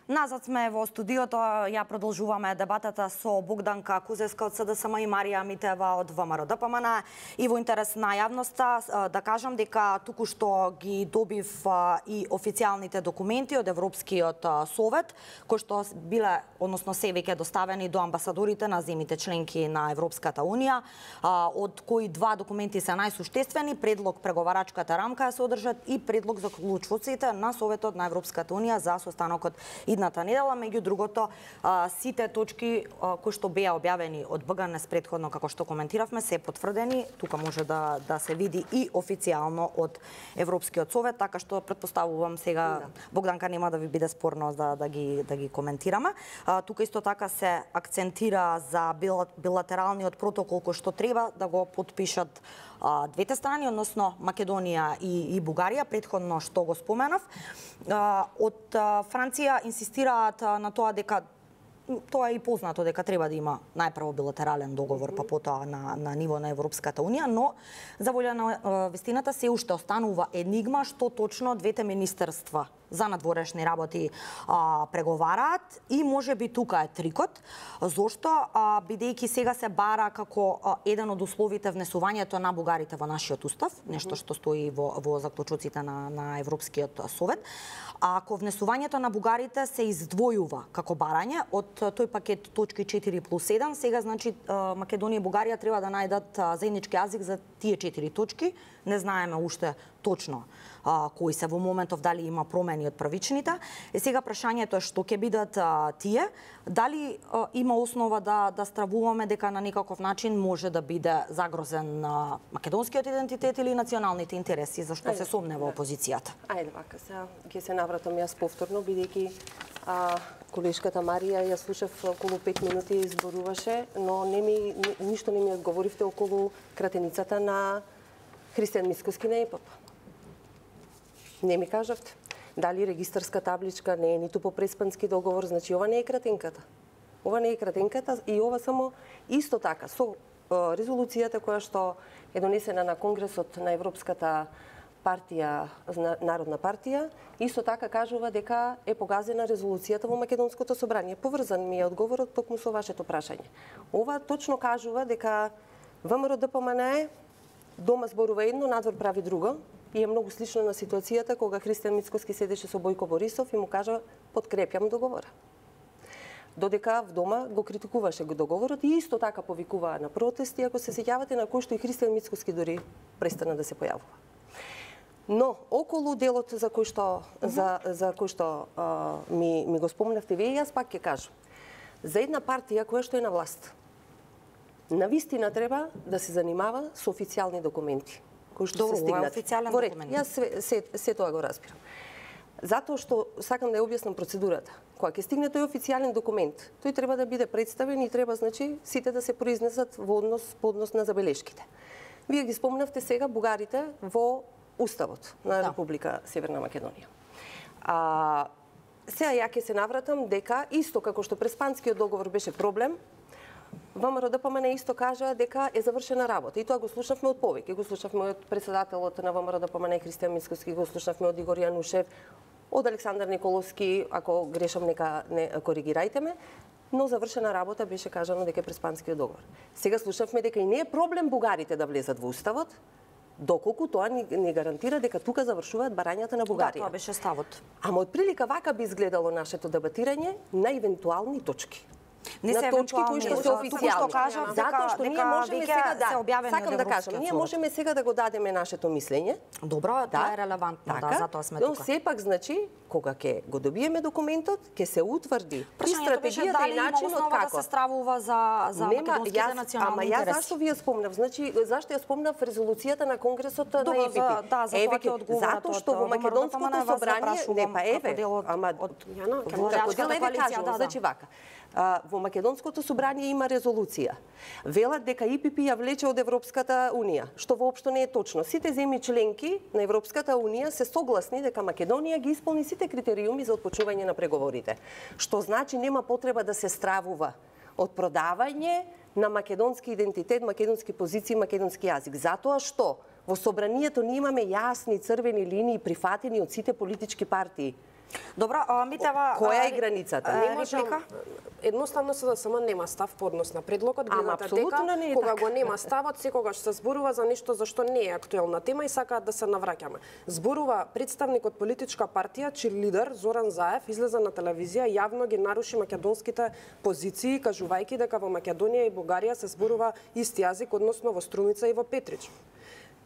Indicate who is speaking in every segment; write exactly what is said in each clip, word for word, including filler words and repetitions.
Speaker 1: Назад сме во студиото, ја продолжуваме дебатата со Богданка Кузевска од СДСМ и Марија Митева од ВМРО-ДПМН. И во интерес на јавноста да кажам дека туку-што ги добив и официјалните документи од Европскиот совет, кои што биле, односно се веќе доставени до амбасадорите на земјите членки на Европската унија, од кои два документи се најсуштествени, предлог преговарачката рамка ја содржат и предлог за клучоците на Советот на Европската унија за состанокот идната недела. Меѓу другото, сите точки кои што беа објавени од БГНЕС претходно, како што коментиравме, се потврдени. Тука може да да се види и официјално од Европскиот совет, така што претпоставувам сега да. Богданка нема да ви биде спорно да да ги да ги коментираме. Тука исто така се акцентира за билатералниот протокол кој што треба да го потпишат двете страни, односно Македонија и, и Бугарија, претходно што го споменав. Од Франција инсистираат на тоа дека тоа е и познато дека треба да има најпрво билатерален договор, па потоа на, на ниво на Европската унија, но за волја на вистината се уште останува енигма што точно двете министерства за надворешни работи а, преговараат и може би тука е трикот, зошто а, бидејќи сега се бара како а, еден од условите внесувањето на бугарите во нашиот устав, нешто што стои во, во заклучоците на, на Европскиот совет. А ако внесувањето на бугарите се издвојува како барање од тој пакет точки четири плюс еден, сега значи Македонија и Бугарија треба да најдат заеднички јазик за тие четири точки. Не знаеме уште точно а, кои се во моментов, дали има промени од првичните. И сега прашањето е што ќе бидат а, тие, дали а, има основа да да стравуваме дека на некаков начин може да биде загрозен а, македонскиот идентитет или националните интереси, зашто Ајде, се сомнева опозицијата.
Speaker 2: Ајде вака, сега ќе се навратам јас повторно, бидејќи а, колешката Марија ја слушав околу пет минути изборуваше, но не ми ни, ништо не ми одговоривте околу кратеницата на Христијан Мицкоски на ЕПП. Не ми кажавте. Дали регистарска табличка не е ниту по преспански договор, значи ова не е кратенката. Ова не е кратенката и ова само исто така со резолуцијата која што е донесена на Конгресот на Европската партија, Народна партија, исто така кажува дека е погазена резолуцијата во Македонското собрание. Поврзан ми е одговорот токму со вашето прашање. Ова точно кажува дека ВМРО-ДПМН дома зборува едно, надвор прави друго, и е многу слично на ситуацијата кога Христијан Мицкоски седеше со Бојко Борисов и му кажа подкрепјам договора. Додека в дома го критикуваше го договорот и исто така повикуваа на протести, ако се сеќавате, на кој што и Христијан Мицкоски дори престана да се појавува. Но околу делот за кој што uh -huh. за за кој што а, ми ми го спомнавте вие, јас пак ќе кажам. За една партија која што е на власт, навистина треба да се занимава со официјални документи кои што
Speaker 1: Добро,
Speaker 2: се стигнат.
Speaker 1: Официјален
Speaker 2: Во ред,
Speaker 1: документ.
Speaker 2: јас се, се, се тоа го разбирам. Затоа што сакам да ја објаснам процедурата. Кога ќе стигне тој официјален документ, тој треба да биде представен и треба, значи, сите да се произнесат во однос по однос на забелешките. Вие ги спомнавте сега бугарите во Уставот на да. Република Северна Македонија. А, сега ја ќе се навратам дека исто како што преспанскиот договор беше проблем, ВМРО-ДПМН исто кажа дека е завршена работа. И тоа го слушнавме од повеќе. Го слушнавме од председателот на ВМРО-ДПМН Христијан Мицкоски, го слушнавме од Игор Јанушев, од Александар Николовски, ако грешам нека не коригирајте ме, но завршена работа беше кажано дека е преспанскиот договор. Сега слушнавме дека и не е проблем бугарите да влезат во Уставот, доколку тоа ни, ни гарантира дека тука завршуваат барањата на Бугарија.
Speaker 1: Да, тоа беше ставот.
Speaker 2: Ама од прилика вака би изгледало нашето дебатирање на евентуални точки.
Speaker 1: Не се
Speaker 2: на точки кои што се официјални. Затоа што ние можеме сега да сакам да кажам, ние можеме сега да го дадеме нашето мислење.
Speaker 1: Добро, тоа е релевантно,
Speaker 2: така,
Speaker 1: да, затоа сме тука.
Speaker 2: Но сепак значи кога ќе го добиеме документот, ќе се утврди и стратегијата и начинот како
Speaker 1: да се стравува за за македонските национални интереси.
Speaker 2: Ама јас зашто ви ја спомнав? Значи зашто ја спомнав резолуцијата на Конгресот на
Speaker 1: Добро,
Speaker 2: ЕПП?
Speaker 1: За, да, за
Speaker 2: еве,
Speaker 1: тоа ќе
Speaker 2: затоа што во македонското собрание не па еве, ама
Speaker 1: Јана,
Speaker 2: како дел еве кажам, значи вака. Во македонското собрание има резолуција. Велат дека ИПП ја влече од Европската унија, што воопшто не е точно. Сите земји членки на Европската унија се согласни дека Македонија ги исполни сите критериуми за отпочнување на преговорите, што значи нема потреба да се стравува од продавање на македонски идентитет, македонски позиции, македонски јазик. Затоа што во собранието ние имаме јасни црвени линии прифатени од сите политички партии.
Speaker 1: Добро, Митева,
Speaker 2: која е границата?
Speaker 3: Не можам, едноставно СДСМ нема став по однос на предлогот, гледате дека
Speaker 2: не
Speaker 3: кога
Speaker 2: така.
Speaker 3: го нема ставот, секогаш се зборува за нешто за што не е актуелна тема и сакаат да се навраќаме. Зборува представник од политичка партија, чиј лидер Зоран Заев излезе на телевизија и јавно ги наруши македонските позиции, кажувајќи дека во Македонија и Бугарија се зборува исти јазик, односно во Струмица и во Петрич.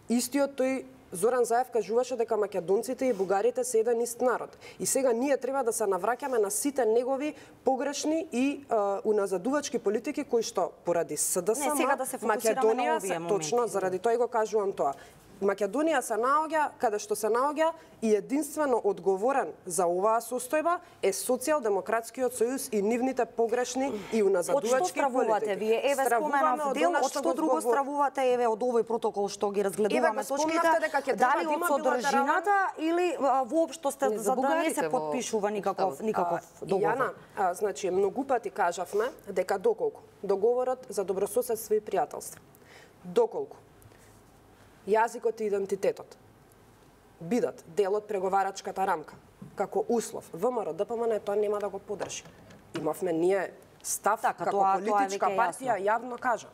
Speaker 3: Истиот тој Зоран Заев кажуваше дека македонците и бугарите се еден ист народ. И сега ние треба да се навраќаме на сите негови погрешни и uh, уназадувачки политики кои што поради СДСМ,
Speaker 1: Не, сега да се фокусираме на овие моменти.
Speaker 3: Точно, заради тоа го кажувам тоа. Македонија се наоѓа каде што се наоѓа и единствено одговорен за оваа состојба е Социјалдемократскиот сојуз и нивните погрешни и уназадувачки политики.
Speaker 1: Од што стравувате вие? Еве споменав дел, од што друго стравувате, еве од овој протокол што ги разгледуваме точките, дали од содржината или воопшто сте за да не се подпишува никаков никаков договор?
Speaker 3: Јана, а, значи многу пати кажавме дека доколку договорот за добрососедство и пријателство, доколку јазикот и идентитетот бидат дел од преговарачката рамка, како услов, ВМРО-ДПМН тоа нема да го поддржи. Имавме ние став
Speaker 1: така,
Speaker 3: како
Speaker 1: тоа,
Speaker 3: политичка
Speaker 1: тоа
Speaker 3: партија, јавно кажа.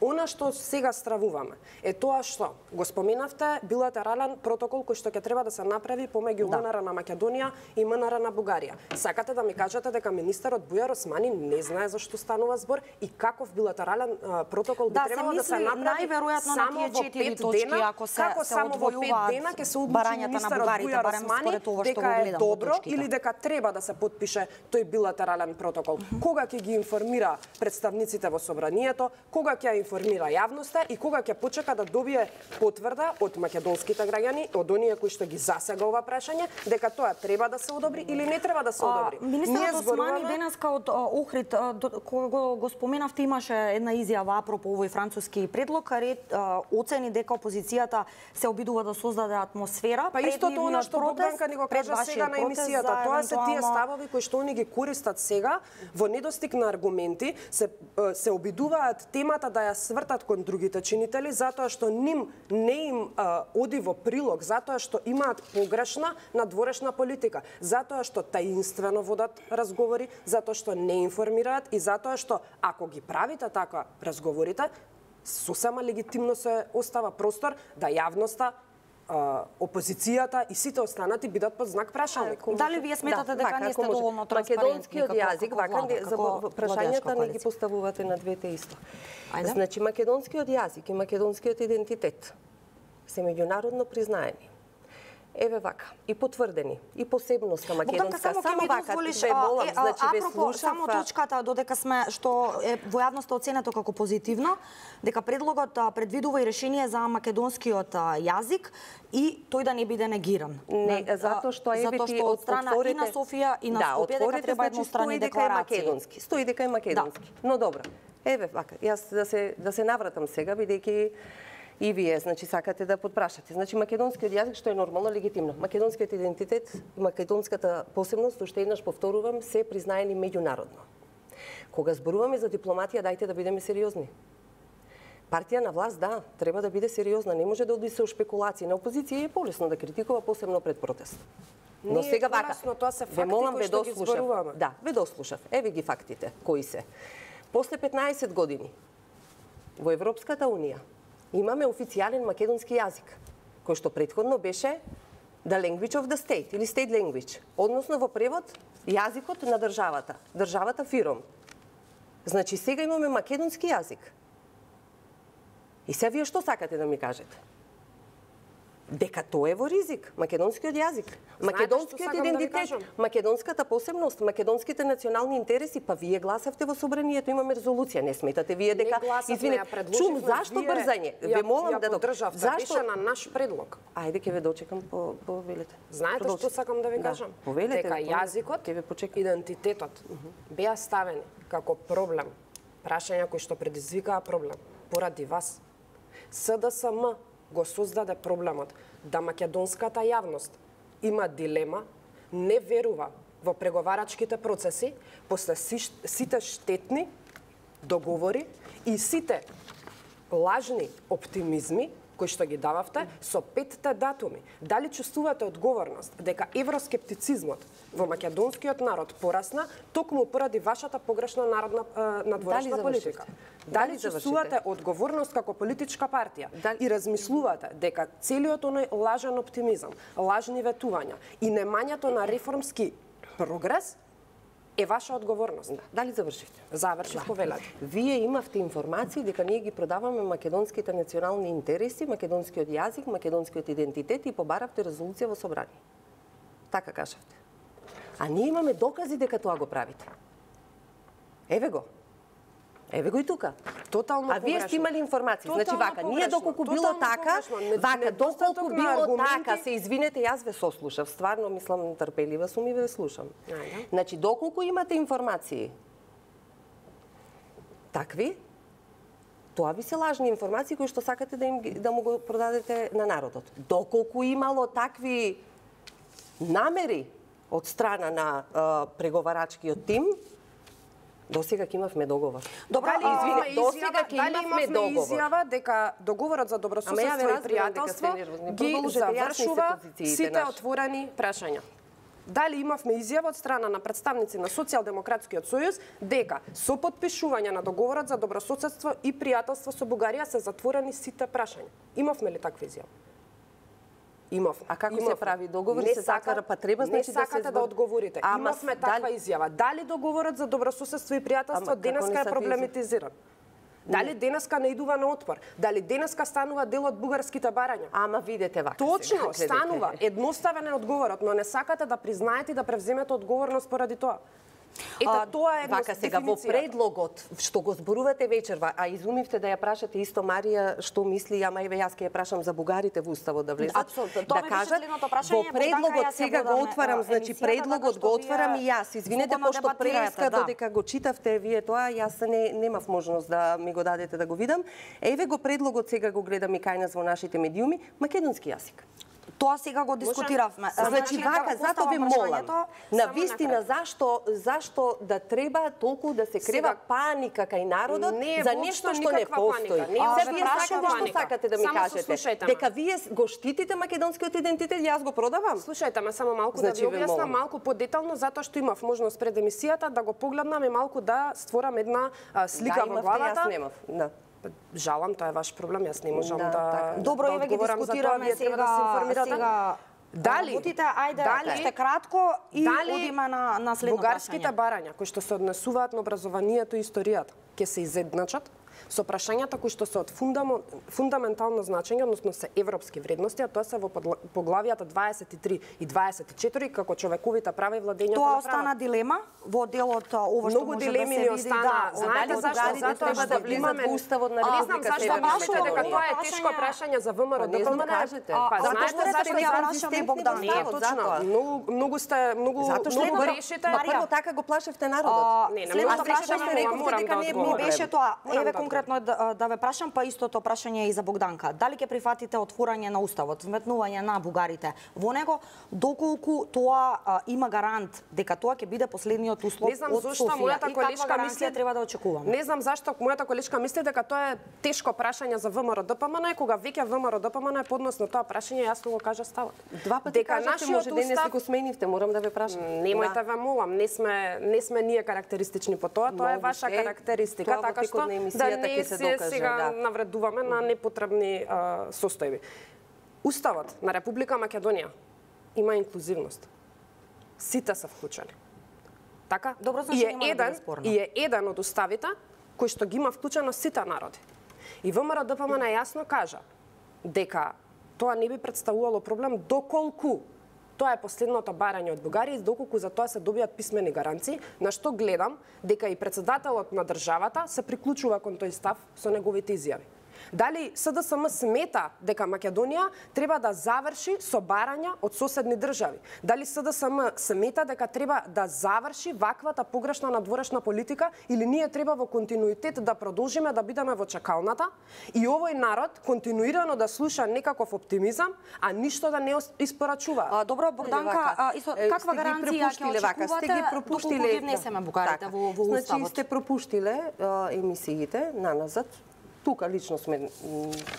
Speaker 3: Она што сега стравуваме е тоа што го споменавте билатерален протокол кој што ќе треба да се направи помеѓу да. МНР на Македонија и МНР на Бугарија. Сакате да ми кажете дека министерот Бујар Османи не знае за што станува збор и каков билатерален а, протокол би
Speaker 1: да,
Speaker 3: требало да се направи
Speaker 1: само во пет точки,
Speaker 3: дена,
Speaker 1: ако се,
Speaker 3: како
Speaker 1: се
Speaker 3: само во пет дена ќе се одлучи министерот Бујар Османи дека е добро или дека треба да се потпише тој билатерален протокол. Mm -hmm. Кога ќе ги информира представниците во собранието, кога ќе информира јавноста и кога ќе почека да добие потврда од македонските граѓани, од оние кои што ги засега ова прашање, дека тоа треба да се одобри или не треба да се одобри.
Speaker 1: Министерот Османи денеска од Охрид, кога го, го споменавте, имаше една изјава апропо овој француски предлог, ред оцени дека опозицијата се обидува да создаде атмосфера.
Speaker 3: Па истото она што Богданка ни го кажа сега на емисијата, тоа се тие ставови кои што они ги користат сега во недостиг на аргументи, се се обидуваат темата да ја свртат кон другите чинители, затоа што ним не им а, оди во прилог, затоа што имаат погрешна надворешна политика, затоа што таинствено водат разговори, затоа што не информираат и затоа што ако ги правите така разговорите, сосема легитимно се остава простор да јавноста, опозицијата и сите останати бидат под знак прашање.
Speaker 1: Дали вие сметате дека не сте доволно транспарентни?
Speaker 2: Македонскиот јазик, вака за прашањата не ги поставувате на двете исто. Значи, македонскиот јазик и македонскиот идентитет се меѓународно признаени. Еве вака, и потврдени, и посебноста македонска,
Speaker 1: само,
Speaker 2: само вака,
Speaker 1: ве
Speaker 2: молам, значи ве слушав...
Speaker 1: Само точката, додека сме, што е во јавноста оценето како позитивно, дека предлогот предвидува и решение за македонскиот јазик и тој да не биде негиран.
Speaker 2: Не, затоа што е
Speaker 1: ти од страна и на Софија и на Скопје дека треба едностранни декларации.
Speaker 2: Стои дека е македонски. Но добро. Еве вака, јас да се да се навратам сега бидејќи и вие, значи, сакате да подпрашате. Значи, македонскиот јазик, што е нормално, легитимно. Македонскиот идентитет и македонската посебност, уште еднаш повторувам, се признаени меѓународно. Кога зборуваме за дипломатија, дајте да бидеме сериозни. Партија на власт, да, треба да биде сериозна. Не може да оди се у шпекулации. На опозиција е полесно да критикува, посебно пред протест. Но сега вака,
Speaker 3: тоа се факти
Speaker 2: ве молам,
Speaker 3: кои
Speaker 2: ве
Speaker 3: што ги зборуваме.
Speaker 2: Да, ве дослушав. Еве ги фактите, кои се. После петнаесет години во Европската Унија имаме официјален македонски јазик, кој што претходно беше the language of the state или state language, односно во превод јазикот на државата, државата фиром. Значи сега имаме македонски јазик. И сега вие што сакате да ми кажете? Дека тоа е во ризик, македонскиот јазик, македонскиот идентитет, да македонската посебност, македонските национални интереси, па вие гласавте во собранието, имаме резолуција, не сметате вие дека
Speaker 3: извинете,
Speaker 2: чум зашто брзање? Ве молам да
Speaker 3: поддржавте, беше на наш предлог.
Speaker 2: Ајде ќе ве дочекам по по велете.
Speaker 3: Знаете што сакам да ви кажам? Дека јазикот,
Speaker 2: ќе ве почекам,
Speaker 3: идентитетот беа ставени како проблем, прашања кои што предизвикаа проблем поради вас. СДСМ го создаде проблемот да македонската јавност има дилема, не верува во преговарачките процеси, после сите штетни договори и сите лажни оптимизми кои што ги дававте со петте датуми. Дали чувствувате одговорност дека евроскептицизмот во македонскиот народ порасна токму поради вашата погрешна народна надворешна политика? Дали чувствувате одговорност како политичка партија и размислувате дека целиот оној лажен оптимизам, лажни ветувања и немањето на реформски прогрес е ваша одговорност?
Speaker 2: Дали завршивте?
Speaker 3: Завршив, повелете.
Speaker 2: Вие имавте информации дека ние ги продаваме македонските национални интереси, македонскиот јазик, македонскиот идентитет и побаравте резолуција во собрание. Така кажавте. А ние имаме докази дека тоа го правите. Еве го. Еве го и тука.
Speaker 3: Тотално
Speaker 2: А вие сте имали информации. Значи вака, ние доколку било така, вака, доколку било така, се извинете, јас ве сослушав, стварно мислам трпелива сум и ве слушам. Значи доколку имате информации такви, тоа ви се лажни информации кои што сакате да им да му го продадете на народот. Доколку имало такви намери од страна на а, преговарачкиот тим, до сега ќе имавме договор.
Speaker 3: Добро,
Speaker 2: дали извине, до сега ќе имавме договор.
Speaker 3: Изјава дека договорот за добрососедство и пријателство ги завршува сите отворени прашања. Дали имавме изјава од страна на представници на Социјалдемократскиот сојуз дека со потпишување на договорот за добрососедство и пријателство со Бугарија се затворени сите прашања? Имавме ли таква изјава? Имав.
Speaker 2: А како
Speaker 3: Имав.
Speaker 2: се прави договор?
Speaker 3: Не
Speaker 2: се
Speaker 3: сака,
Speaker 2: затвара, па треба
Speaker 3: не
Speaker 2: значи да се
Speaker 3: сакате да одговорите.
Speaker 2: Ама,
Speaker 3: Имавме таква
Speaker 2: дали...
Speaker 3: изјава. Дали договорот за добрососедство и пријателство денеска е проблематизиран? Дали денеска не идува на отпор? Дали денеска станува дел од бугарските барања?
Speaker 2: Ама видете вака.
Speaker 3: Точно,
Speaker 2: сега,
Speaker 3: станува. Едноставен е одговорот, но не сакате да признаете и да превземете одговорност поради тоа. Ето,
Speaker 2: А,
Speaker 3: тоа е
Speaker 2: вака сега во предлогот што го зборувате вечерва, а изумивте да ја прашате исто Марија што мисли, ама еве јас ќе ја прашам за бугарите во уставот да влезат.
Speaker 1: Апсолутно. Тоа
Speaker 2: Да
Speaker 1: ми
Speaker 2: кажат,
Speaker 1: беше прашање,
Speaker 2: во предлогот
Speaker 1: јас ја
Speaker 2: сега го
Speaker 1: водам,
Speaker 2: отварам,
Speaker 1: е,
Speaker 2: значи
Speaker 1: емисијата,
Speaker 2: предлогот
Speaker 1: така
Speaker 2: го
Speaker 1: што
Speaker 2: отварам
Speaker 1: вие
Speaker 2: и јас. Извинете
Speaker 1: слободно
Speaker 2: пошто
Speaker 1: дебатирате,
Speaker 2: преска
Speaker 1: да.
Speaker 2: додека го читавте вие тоа, јас не немав можност да ми го дадете да го видам. Еве го предлогот сега го гледам и кај нас во нашите медиуми, македонски јазик.
Speaker 1: Тоа сега го дискутиравме.
Speaker 2: Значи вака, затоа ве молам. На вистина
Speaker 3: на
Speaker 2: зашто зашто да треба толку да се крева
Speaker 3: Сега,
Speaker 2: паника кај народот
Speaker 3: не е
Speaker 2: за
Speaker 3: воопшто
Speaker 2: нешто што не
Speaker 3: никаква
Speaker 2: постои.
Speaker 3: паника. Не е
Speaker 2: А,
Speaker 3: воопшто
Speaker 2: вие
Speaker 3: никаква
Speaker 2: сакате што
Speaker 3: паника.
Speaker 2: сакате да ми
Speaker 3: Само
Speaker 2: кажете?
Speaker 3: слушајте ме.
Speaker 2: Дека вие го штитите македонскиот идентитет, јас го продавам.
Speaker 3: Слушајте ме само малку
Speaker 2: Значи,
Speaker 3: да
Speaker 2: ве
Speaker 3: ви објаснам
Speaker 2: молам.
Speaker 3: малку подетално затоа што имав можност пред емисијата да го погледнам и малку да створам една а, слика
Speaker 2: да,
Speaker 3: во
Speaker 2: имавте,
Speaker 3: главата.
Speaker 2: Јас немав. Да.
Speaker 3: Жалам, тоа е ваш проблем, јас не можам
Speaker 2: Да,
Speaker 3: да,
Speaker 2: така.
Speaker 3: да
Speaker 1: Добро, еве ги
Speaker 3: одговорам за тоа,
Speaker 1: дискутираме
Speaker 3: вие треба да се
Speaker 1: сега,
Speaker 3: информирате.
Speaker 1: сега
Speaker 3: Дали?
Speaker 1: работите, ајде,
Speaker 3: Дали?
Speaker 1: ще кратко и
Speaker 3: Дали
Speaker 1: одиме на, на следно
Speaker 3: бугарските
Speaker 1: прашање.
Speaker 3: барања кои што се однесуваат на образованието и историјата ќе се изедначат со прашањата кои што се од фундам... фундаментално значење, односно се европски вредности, а тоа се во подла... поглавијата дваесет и три и дваесет и четири како човековите права и владењето
Speaker 1: Тоа
Speaker 3: на
Speaker 1: остана
Speaker 3: правото.
Speaker 1: дилема во делот ова што
Speaker 3: Многу
Speaker 1: може
Speaker 3: дилеми
Speaker 1: да
Speaker 3: ни
Speaker 1: се види.
Speaker 3: остана.
Speaker 1: Да,
Speaker 3: Знаете
Speaker 2: дали
Speaker 3: зашто?
Speaker 2: бугарите
Speaker 3: Затоа
Speaker 2: треба
Speaker 3: што
Speaker 2: да влизат
Speaker 3: имаме...
Speaker 2: во уставот на
Speaker 3: Не знам
Speaker 2: Република
Speaker 3: зашто
Speaker 2: Северна
Speaker 3: мислите дека
Speaker 2: Македонија.
Speaker 3: тоа е тешко прашање за ВМРО
Speaker 2: Па не знам,
Speaker 3: ДПМН?
Speaker 2: кажете.
Speaker 3: Па
Speaker 1: Затоа
Speaker 3: знаете
Speaker 1: што
Speaker 3: зашто
Speaker 1: сте
Speaker 3: ја
Speaker 1: ја
Speaker 3: прашаме
Speaker 1: прашаме Богдан.
Speaker 3: Не е
Speaker 2: затоа.
Speaker 3: точно. Многу многу сте многу
Speaker 2: Затоа што
Speaker 3: многу
Speaker 2: прво,
Speaker 3: грешите.
Speaker 2: па прво така го плашевте народот.
Speaker 1: А,
Speaker 3: Не, не
Speaker 1: следното
Speaker 3: можам да
Speaker 1: прашање
Speaker 3: кажам,
Speaker 1: рековте
Speaker 3: морам
Speaker 1: дека
Speaker 3: да
Speaker 1: не ми
Speaker 3: одговорам.
Speaker 1: беше тоа.
Speaker 3: Морам
Speaker 1: Еве
Speaker 3: да
Speaker 1: конкретно да, да ве прашам, па истото прашање и за Богданка. Дали ќе прифатите отворање на уставот, вметнување на бугарите во него, доколку тоа а, има гарант дека тоа ќе биде последниот услов
Speaker 3: Не знам
Speaker 1: од
Speaker 3: зашто
Speaker 1: Софија
Speaker 3: мојата
Speaker 1: и каква
Speaker 3: колешка
Speaker 1: гаранција
Speaker 3: мисли
Speaker 1: треба да очекуваме?
Speaker 3: Не знам зашто мојата колешка мисли дека тоа е тешко прашање за ВМРО ДПМН, кога веќе ВМРО ДПМН е поднос на тоа прашање, јасно го кажа ставот.
Speaker 2: Два пати кажавте, може денес го сменивте, морам да ве прашам.
Speaker 3: Немојте ве молам, не сме не сме ние карактеристични по тоа, тоа е
Speaker 2: Многу
Speaker 3: ваша
Speaker 2: сте.
Speaker 3: карактеристика,
Speaker 2: Тоа во
Speaker 3: така
Speaker 2: текот
Speaker 3: што
Speaker 2: на емисијата
Speaker 3: да
Speaker 2: ќе
Speaker 3: не
Speaker 2: се
Speaker 3: се
Speaker 2: докаже,
Speaker 3: сега
Speaker 2: да.
Speaker 3: навредуваме на непотребни а, состојби. Уставот на Република Македонија има инклузивност. Сите се вклучени. Така?
Speaker 1: Добро, значи
Speaker 3: и е
Speaker 1: нема да биде
Speaker 3: еден,
Speaker 1: спорно.
Speaker 3: и е еден од уставите кој што ги има вклучено сите народи. И ВМРО ДПМН јасно кажа дека тоа не би представувало проблем доколку тоа е последното барање од Бугарија и доколку за тоа се добијат писмени гаранции, на што гледам дека и председателот на државата се приклучува кон тој став со неговите изјави. Дали СДСМ смета дека Македонија треба да заврши со барања од соседни држави? Дали СДСМ смета дека треба да заврши ваквата погрешна надворешна политика или ние треба во континуитет да продолжиме да бидеме во чекалната и овој народ континуирано да слуша некаков оптимизам, а ништо да не испорачува?
Speaker 1: А, добро, Богданка, а, исто, каква гаранција ќе
Speaker 2: вака, сте ги
Speaker 1: очекувате
Speaker 2: пропуштиле
Speaker 1: доколку ги внесеме бугарите
Speaker 2: така.
Speaker 1: во, во
Speaker 2: Значи
Speaker 1: уставот?
Speaker 2: сте пропуштиле а, емисиите наназад. тука лично сме,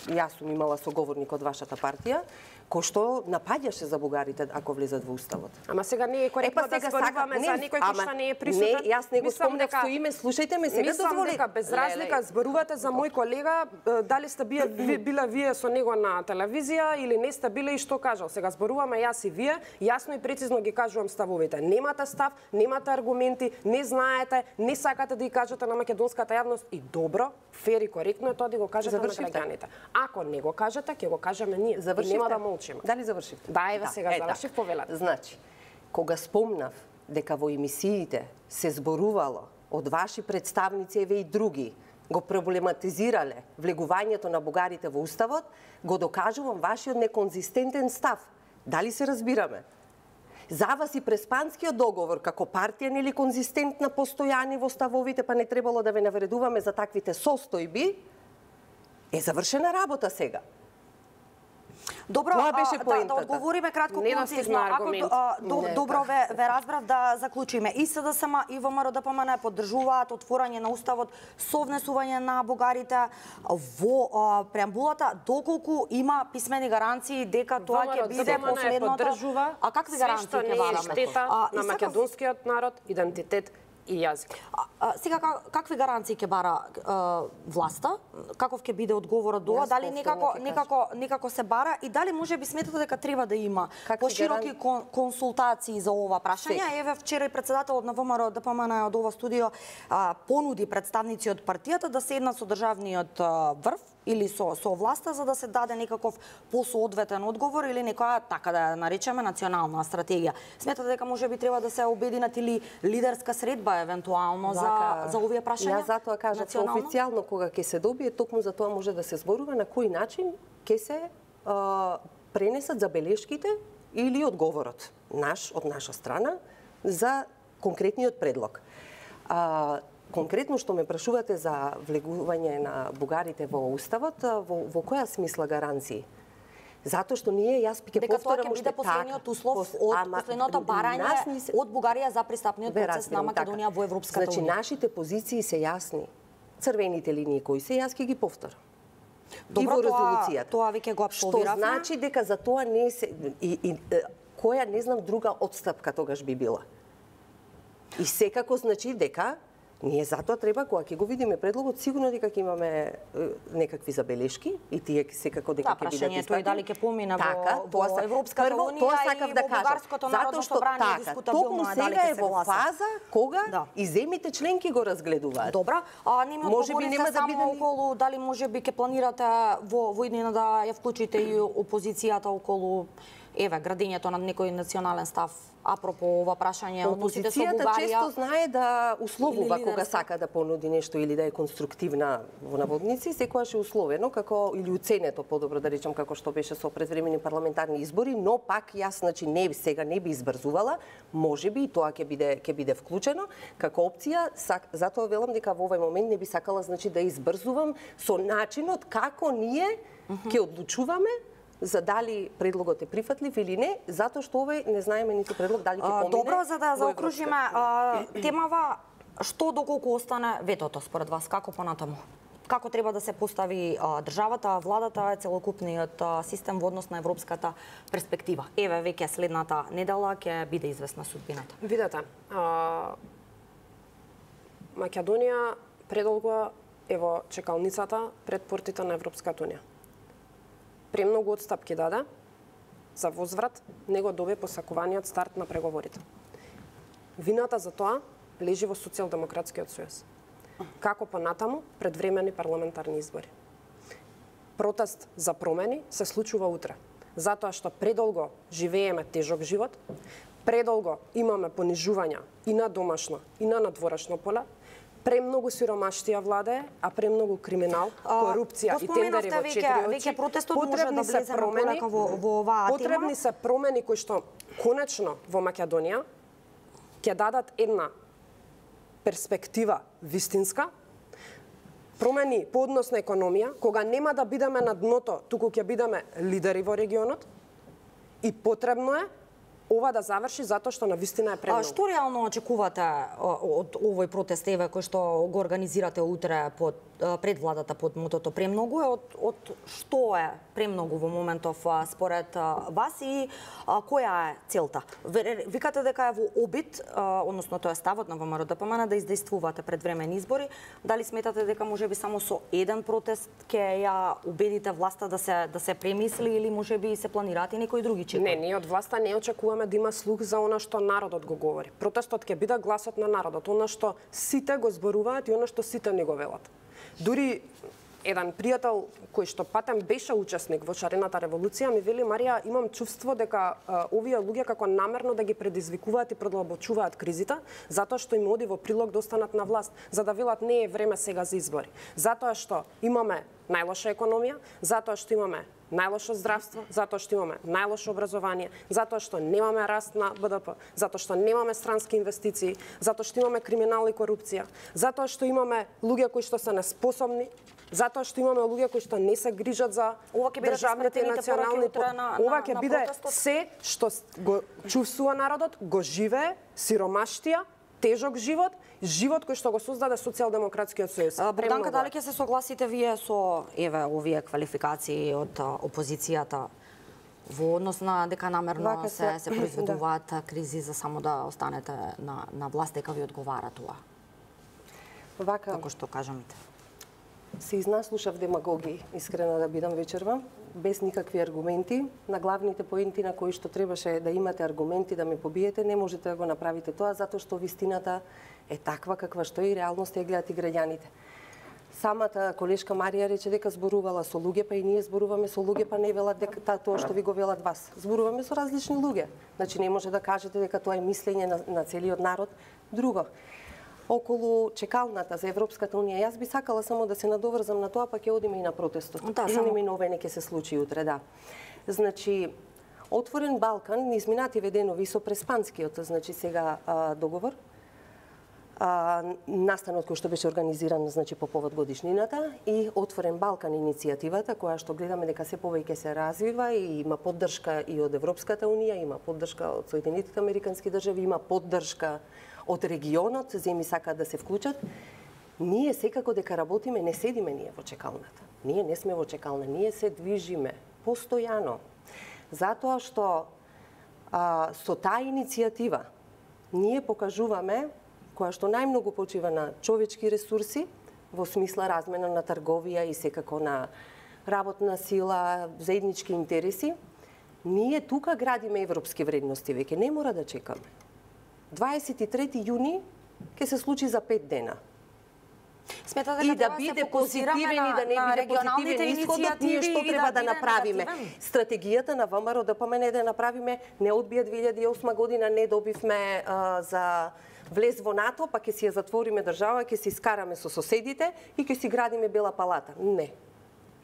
Speaker 2: јас сум имала соговорник од вашата партија, кој што напаѓаше за бугарите ако влезат во уставот.
Speaker 3: Ама сега не е коректно да зборуваме за некој кој што не е присутен.
Speaker 2: Не, јас не го спомнав со име, слушајте ме, сега дозволете.
Speaker 3: Дека без разлика зборувате за мој колега, дали сте бие, била вие со него на телевизија или не сте биле и што кажал. Сега зборуваме јас и вие, јасно и прецизно ги кажувам ставовите. Немате став, немате аргументи, не знаете, не сакате да ги кажете на македонската јавност и добро, фер и коректно е тоа да го кажете на граѓаните. Ако не го кажете, ќе го кажеме ние.
Speaker 2: Завршите?
Speaker 3: Нема да молчиме.
Speaker 2: Дали завршивте?
Speaker 3: Да, еве
Speaker 2: да,
Speaker 3: сега завршив, повелете.
Speaker 2: Значи, кога спомнав дека во емисиите се зборувало од ваши представници, еве и други, го проблематизирале влегувањето на бугарите во уставот, го докажувам вашиот неконзистентен став. Дали се разбираме? За вас и Преспанскиот договор како партија нели конзистентна, постојани во ставовите, па не требало да ве навредуваме за таквите состојби, е завршена работа сега.
Speaker 1: Добро,
Speaker 2: Тоа беше
Speaker 1: да,
Speaker 2: поентата.
Speaker 1: да одговориме кратко
Speaker 3: Не
Speaker 1: концизно. Ако а, до,
Speaker 2: Не,
Speaker 1: добро
Speaker 2: така.
Speaker 1: ве, ве разбрав да заклучиме. И СДСМ и ВМРО-ДПМН поддржуваат отворање на уставот со внесување на бугарите во а, преамбулата, доколку има писмени гаранции дека тоа ќе биде последното. А какви гаранции ќе
Speaker 3: бараме?
Speaker 1: бараме?
Speaker 3: Штета
Speaker 1: А,
Speaker 3: на македонскиот народ, идентитет и јазик.
Speaker 1: А, а, сега как, какви гаранции ќе бара а, власта? Каков ќе биде одговорот до ова? Дали некако некако некако се бара и дали можеби сметате дека треба да има
Speaker 2: Какви
Speaker 1: пошироки
Speaker 2: гаран...
Speaker 1: кон, консултации за ова прашање?
Speaker 2: Сек.
Speaker 1: Еве вчера и председателот на ВМРО-ДПМН од ова студио а, понуди представници од партијата да седнат со државниот а, врв или со со власта за да се даде некаков посоодветен одговор или некоја така да ја наречеме национална стратегија. Сметате дека можеби треба да се обединат или лидерска средба евентуално за за овие прашања?
Speaker 2: Јас затоа кажав официјално кога ќе се добие, токму за тоа може да се зборува на кој начин ќе се а, пренесат забелешките или одговорот наш од наша страна за конкретниот предлог. А, конкретно што ме прашувате за влегување на бугарите во уставот, во, во која смисла гаранции? Затоа што ние, јас ќе повторам
Speaker 1: дека тоа ќе биде последниот услов од последното барање се... од Бугарија за пристапниот процес на Македонија така. Во Европската
Speaker 2: значи,
Speaker 1: унија.
Speaker 2: Значи, нашите позиции се јасни. Црвените линии кои се, јас ќе ги повторам.
Speaker 1: Добро,
Speaker 2: и во
Speaker 1: Тоа,
Speaker 2: резолуцијата.
Speaker 1: тоа веќе го апсолвиравме.
Speaker 2: Што значи дека за тоа не се... И, и, која, не знам, друга отстапка тогаш би била. И секако значи дека ние затоа треба, кога ќе го видиме предлогот, сигурно дека ќе имаме е, некакви забелешки и тие секако дека ќе бидат
Speaker 1: прашањето е дали ќе помине
Speaker 2: така,
Speaker 1: во, во Европската
Speaker 2: прво,
Speaker 1: унија
Speaker 2: тоа сакав
Speaker 1: и
Speaker 2: да
Speaker 1: во
Speaker 2: кажам.
Speaker 1: Бугарското народно собрание
Speaker 2: така,
Speaker 1: дискутабилно е дали
Speaker 2: сега
Speaker 1: ќе
Speaker 2: е
Speaker 1: се
Speaker 2: во
Speaker 1: гласа.
Speaker 2: фаза кога
Speaker 1: да.
Speaker 2: и земите членки го разгледуваат.
Speaker 1: Добра, а не ми одговорите
Speaker 2: нема да
Speaker 1: само
Speaker 2: биде...
Speaker 1: околу дали можеби ќе планирате во во иднина да ја вклучите и опозицијата околу еве градењето на некој национален став апропо ова прашање односите со Бугарија.
Speaker 2: Опозицијата често знае да условува кога сака да понуди нешто или да е конструктивна во наводници, секогаш е условено како или уценето подобро да речам како што беше со предвремени парламентарни избори, но пак јас значи не сега не би избрзувала, можеби и тоа ќе биде ќе биде вклучено како опција, сак, затоа велам дека во овој момент не би сакала значи да избрзувам со начинот како ние ќе одлучуваме за дали предлогот е прифатлив или не, затоа што овој не знаеме ниту предлог дали ќе помине.
Speaker 1: Добро, за да заокружиме темава, што доколку остане ветото според вас, како понатаму? Како треба да се постави а, државата, владата, целокупниот а, систем во однос на европската перспектива? Еве веќе следната недела ќе биде известна судбината.
Speaker 3: Видете, а, Македонија предолго е во чекалницата пред портите на Европската унија. Премногу отстапки даде за возврат, него добие посакуваниот старт на преговорите. Вината за тоа лежи во Социјалдемократскиот сојуз. Како понатаму предвремени парламентарни избори. Протест за промени се случува утре, затоа што предолго живееме тежок живот, предолго имаме понижувања и на домашно и на надворешно поле, премногу сиромаштија владае, а премногу криминал, корупција и тендери во четири очи.
Speaker 1: Веќе протестот може да влезе на полека во, во оваа тема.
Speaker 3: Потребни се промени кои што конечно во Македонија ќе дадат една перспектива вистинска, промени по однос на економија, кога нема да бидеме на дното, туку ќе бидеме лидери во регионот, и потребно е ова да заврши затоа што навистина е премногу.
Speaker 1: А што реално очекувате од овој протест еве кој што го организирате утре под пред владата под мотото премногу е од од што е премногу во моментов според вас и која е целта? Викате дека е во обид, односно тоа е ставот на ВМРО-ДПМН да издействувате предвремени избори. Дали сметате дека можеби само со еден протест ќе ја убедите власта да се да се премисли или можеби се планираат и некои други чекори?
Speaker 3: Не, ние од власта не очекуваме да има слух за она што народот го говори. Протестот ќе биде гласот на народот, она што сите го зборуваат и она што сите не го велат. Дури еден пријател кој што патем беше учесник во шарената револуција ми вели: Марија, имам чувство дека а, овие луѓе како намерно да ги предизвикуваат и продлабочуваат кризите, затоа што им оди во прилог да останат на власт, за да велат не е време сега за избори. Затоа што имаме најлоша економија, затоа што имаме најлошо здравство, затоа што имаме најлошо образование, затоа што немаме раст на Б Д П, затоа што немаме странски инвестиции, затоа што имаме криминал и корупција, затоа што имаме луѓе кои што се неспособни, затоа што имаме луѓе кои што не се грижат за државните и национални
Speaker 1: на,
Speaker 3: ова ќе
Speaker 1: на
Speaker 3: биде
Speaker 1: протестот.
Speaker 3: се што го чувствува народот, го живее, сиромаштија, тежок живот, живот кој што го создаде Социјалдемократскиот сојуз.
Speaker 1: Борданка, дали ќе се согласите вие со еве овие квалификации од опозицијата во однос на дека намерно
Speaker 2: Вака
Speaker 1: се
Speaker 2: се-
Speaker 1: се произведуваат кризи за само да останете на на власт, дека ви одговара тоа?
Speaker 2: Вака,
Speaker 1: Како што кажамте.
Speaker 2: се изнаслушав демагогии, искрено да бидам вечерва, без никакви аргументи. На главните поенти на кои што требаше да имате аргументи да ме побиете, не можете да го направите тоа, затоа што вистината е таква каква што е и реалноста ја гледат и граѓаните. Самата колешка Марија рече дека зборувала со луѓе, па и ние зборуваме со луѓе, па не велат дека та, тоа што ви го велат вас. Зборуваме со различни луѓе. Значи не може да кажете дека тоа е мислење на, на целиот народ. Друго, околу чекалната за Европската унија, јас би сакала само да се надоврзам на тоа, па ќе одиме и на протестот.
Speaker 1: Да, само.
Speaker 2: Неминовено ќе се случи утре, да. Значи, Отворен Балкан, низ минативе денови со Преспанскиот, значи сега а, договор, а, настанот кој што беше организиран значи по повод годишнината и Отворен Балкан иницијативата која што гледаме дека се повеќе се развива и има поддршка и од Европската унија, има поддршка од Соединетите американски држави, има поддршка од регионот, земи сакаат да се вклучат. Ние секако дека работиме, не седиме ние во чекалната. Ние не сме во чекална, ние се движиме постојано. Затоа што а, со таа иницијатива ние покажуваме која што најмногу почива на човечки ресурси, во смисла размена на трговија и секако на работна сила, заеднички интереси, ние тука градиме европски вредности веќе, не мора да чекаме. дваесет и трети јуни ќе се случи за пет дена.
Speaker 1: Сметате
Speaker 2: И
Speaker 1: дека
Speaker 2: да
Speaker 1: треба се
Speaker 2: биде
Speaker 1: фокусираме
Speaker 2: позитивен и да не
Speaker 1: на
Speaker 2: биде
Speaker 1: регионалните
Speaker 2: позитивен исходот, ние што
Speaker 1: иницијативи и
Speaker 2: треба да,
Speaker 1: биде
Speaker 2: направиме?
Speaker 1: негативен?
Speaker 2: Стратегијата на ВМРО-ДПМН е да направиме, не одбија две илјади и осма година, не добивме а, за влез во НАТО, па ќе си ја затвориме држава, ќе си скараме со соседите и ќе си градиме Бела палата. Не.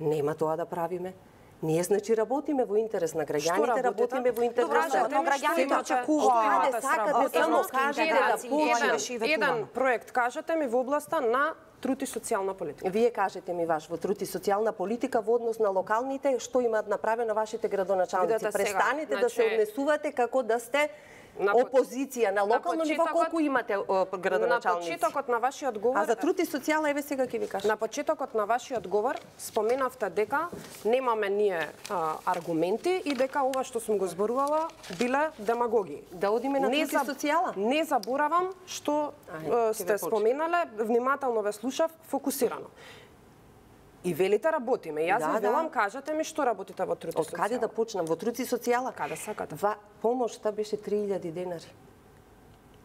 Speaker 2: Нема тоа да правиме. Ние значи работиме во интерес на граѓаните, работиме во интерес
Speaker 1: Добра,
Speaker 2: на
Speaker 1: но граѓаните очекуваат
Speaker 2: Каде сакате само кажете да почнем.
Speaker 3: Еден проект кажете ми во областа на труд и социјална политика.
Speaker 2: Вие кажете ми ваш во труд и социјална политика во однос на локалните, што имаат направено вашите градоначалници.
Speaker 3: Видете сега,
Speaker 2: Престанете да се
Speaker 3: значи,
Speaker 2: однесувате како да сте
Speaker 3: на
Speaker 2: опозиција на локално ниво,
Speaker 3: почетокот-
Speaker 2: колку имате о,
Speaker 3: На
Speaker 2: градоначалници.
Speaker 3: почетокот на вашиот говор,
Speaker 2: А за труд и социјала еве сега ќе ви кажам.
Speaker 3: на почетокот на вашиот говор споменавте дека немаме ние а, аргументи и дека ова што сум го зборувала биле демагогии.
Speaker 2: Да одиме на
Speaker 3: Не
Speaker 2: труд и
Speaker 3: за-
Speaker 2: социјала.
Speaker 3: Не заборавам што
Speaker 2: Ајде,
Speaker 3: е,
Speaker 2: ќе
Speaker 3: сте
Speaker 2: ве почнем.
Speaker 3: споменале, внимателно ве слушав, фокусирано. И велите работиме. Јас
Speaker 2: Да,
Speaker 3: ви
Speaker 2: да.
Speaker 3: велам, кажете ми што работите во труд и
Speaker 2: Од каде да
Speaker 3: социјала.
Speaker 2: почнам? Во труд и социјала?
Speaker 3: Каде сакате?
Speaker 2: Ва, помошта беше три илјади денари.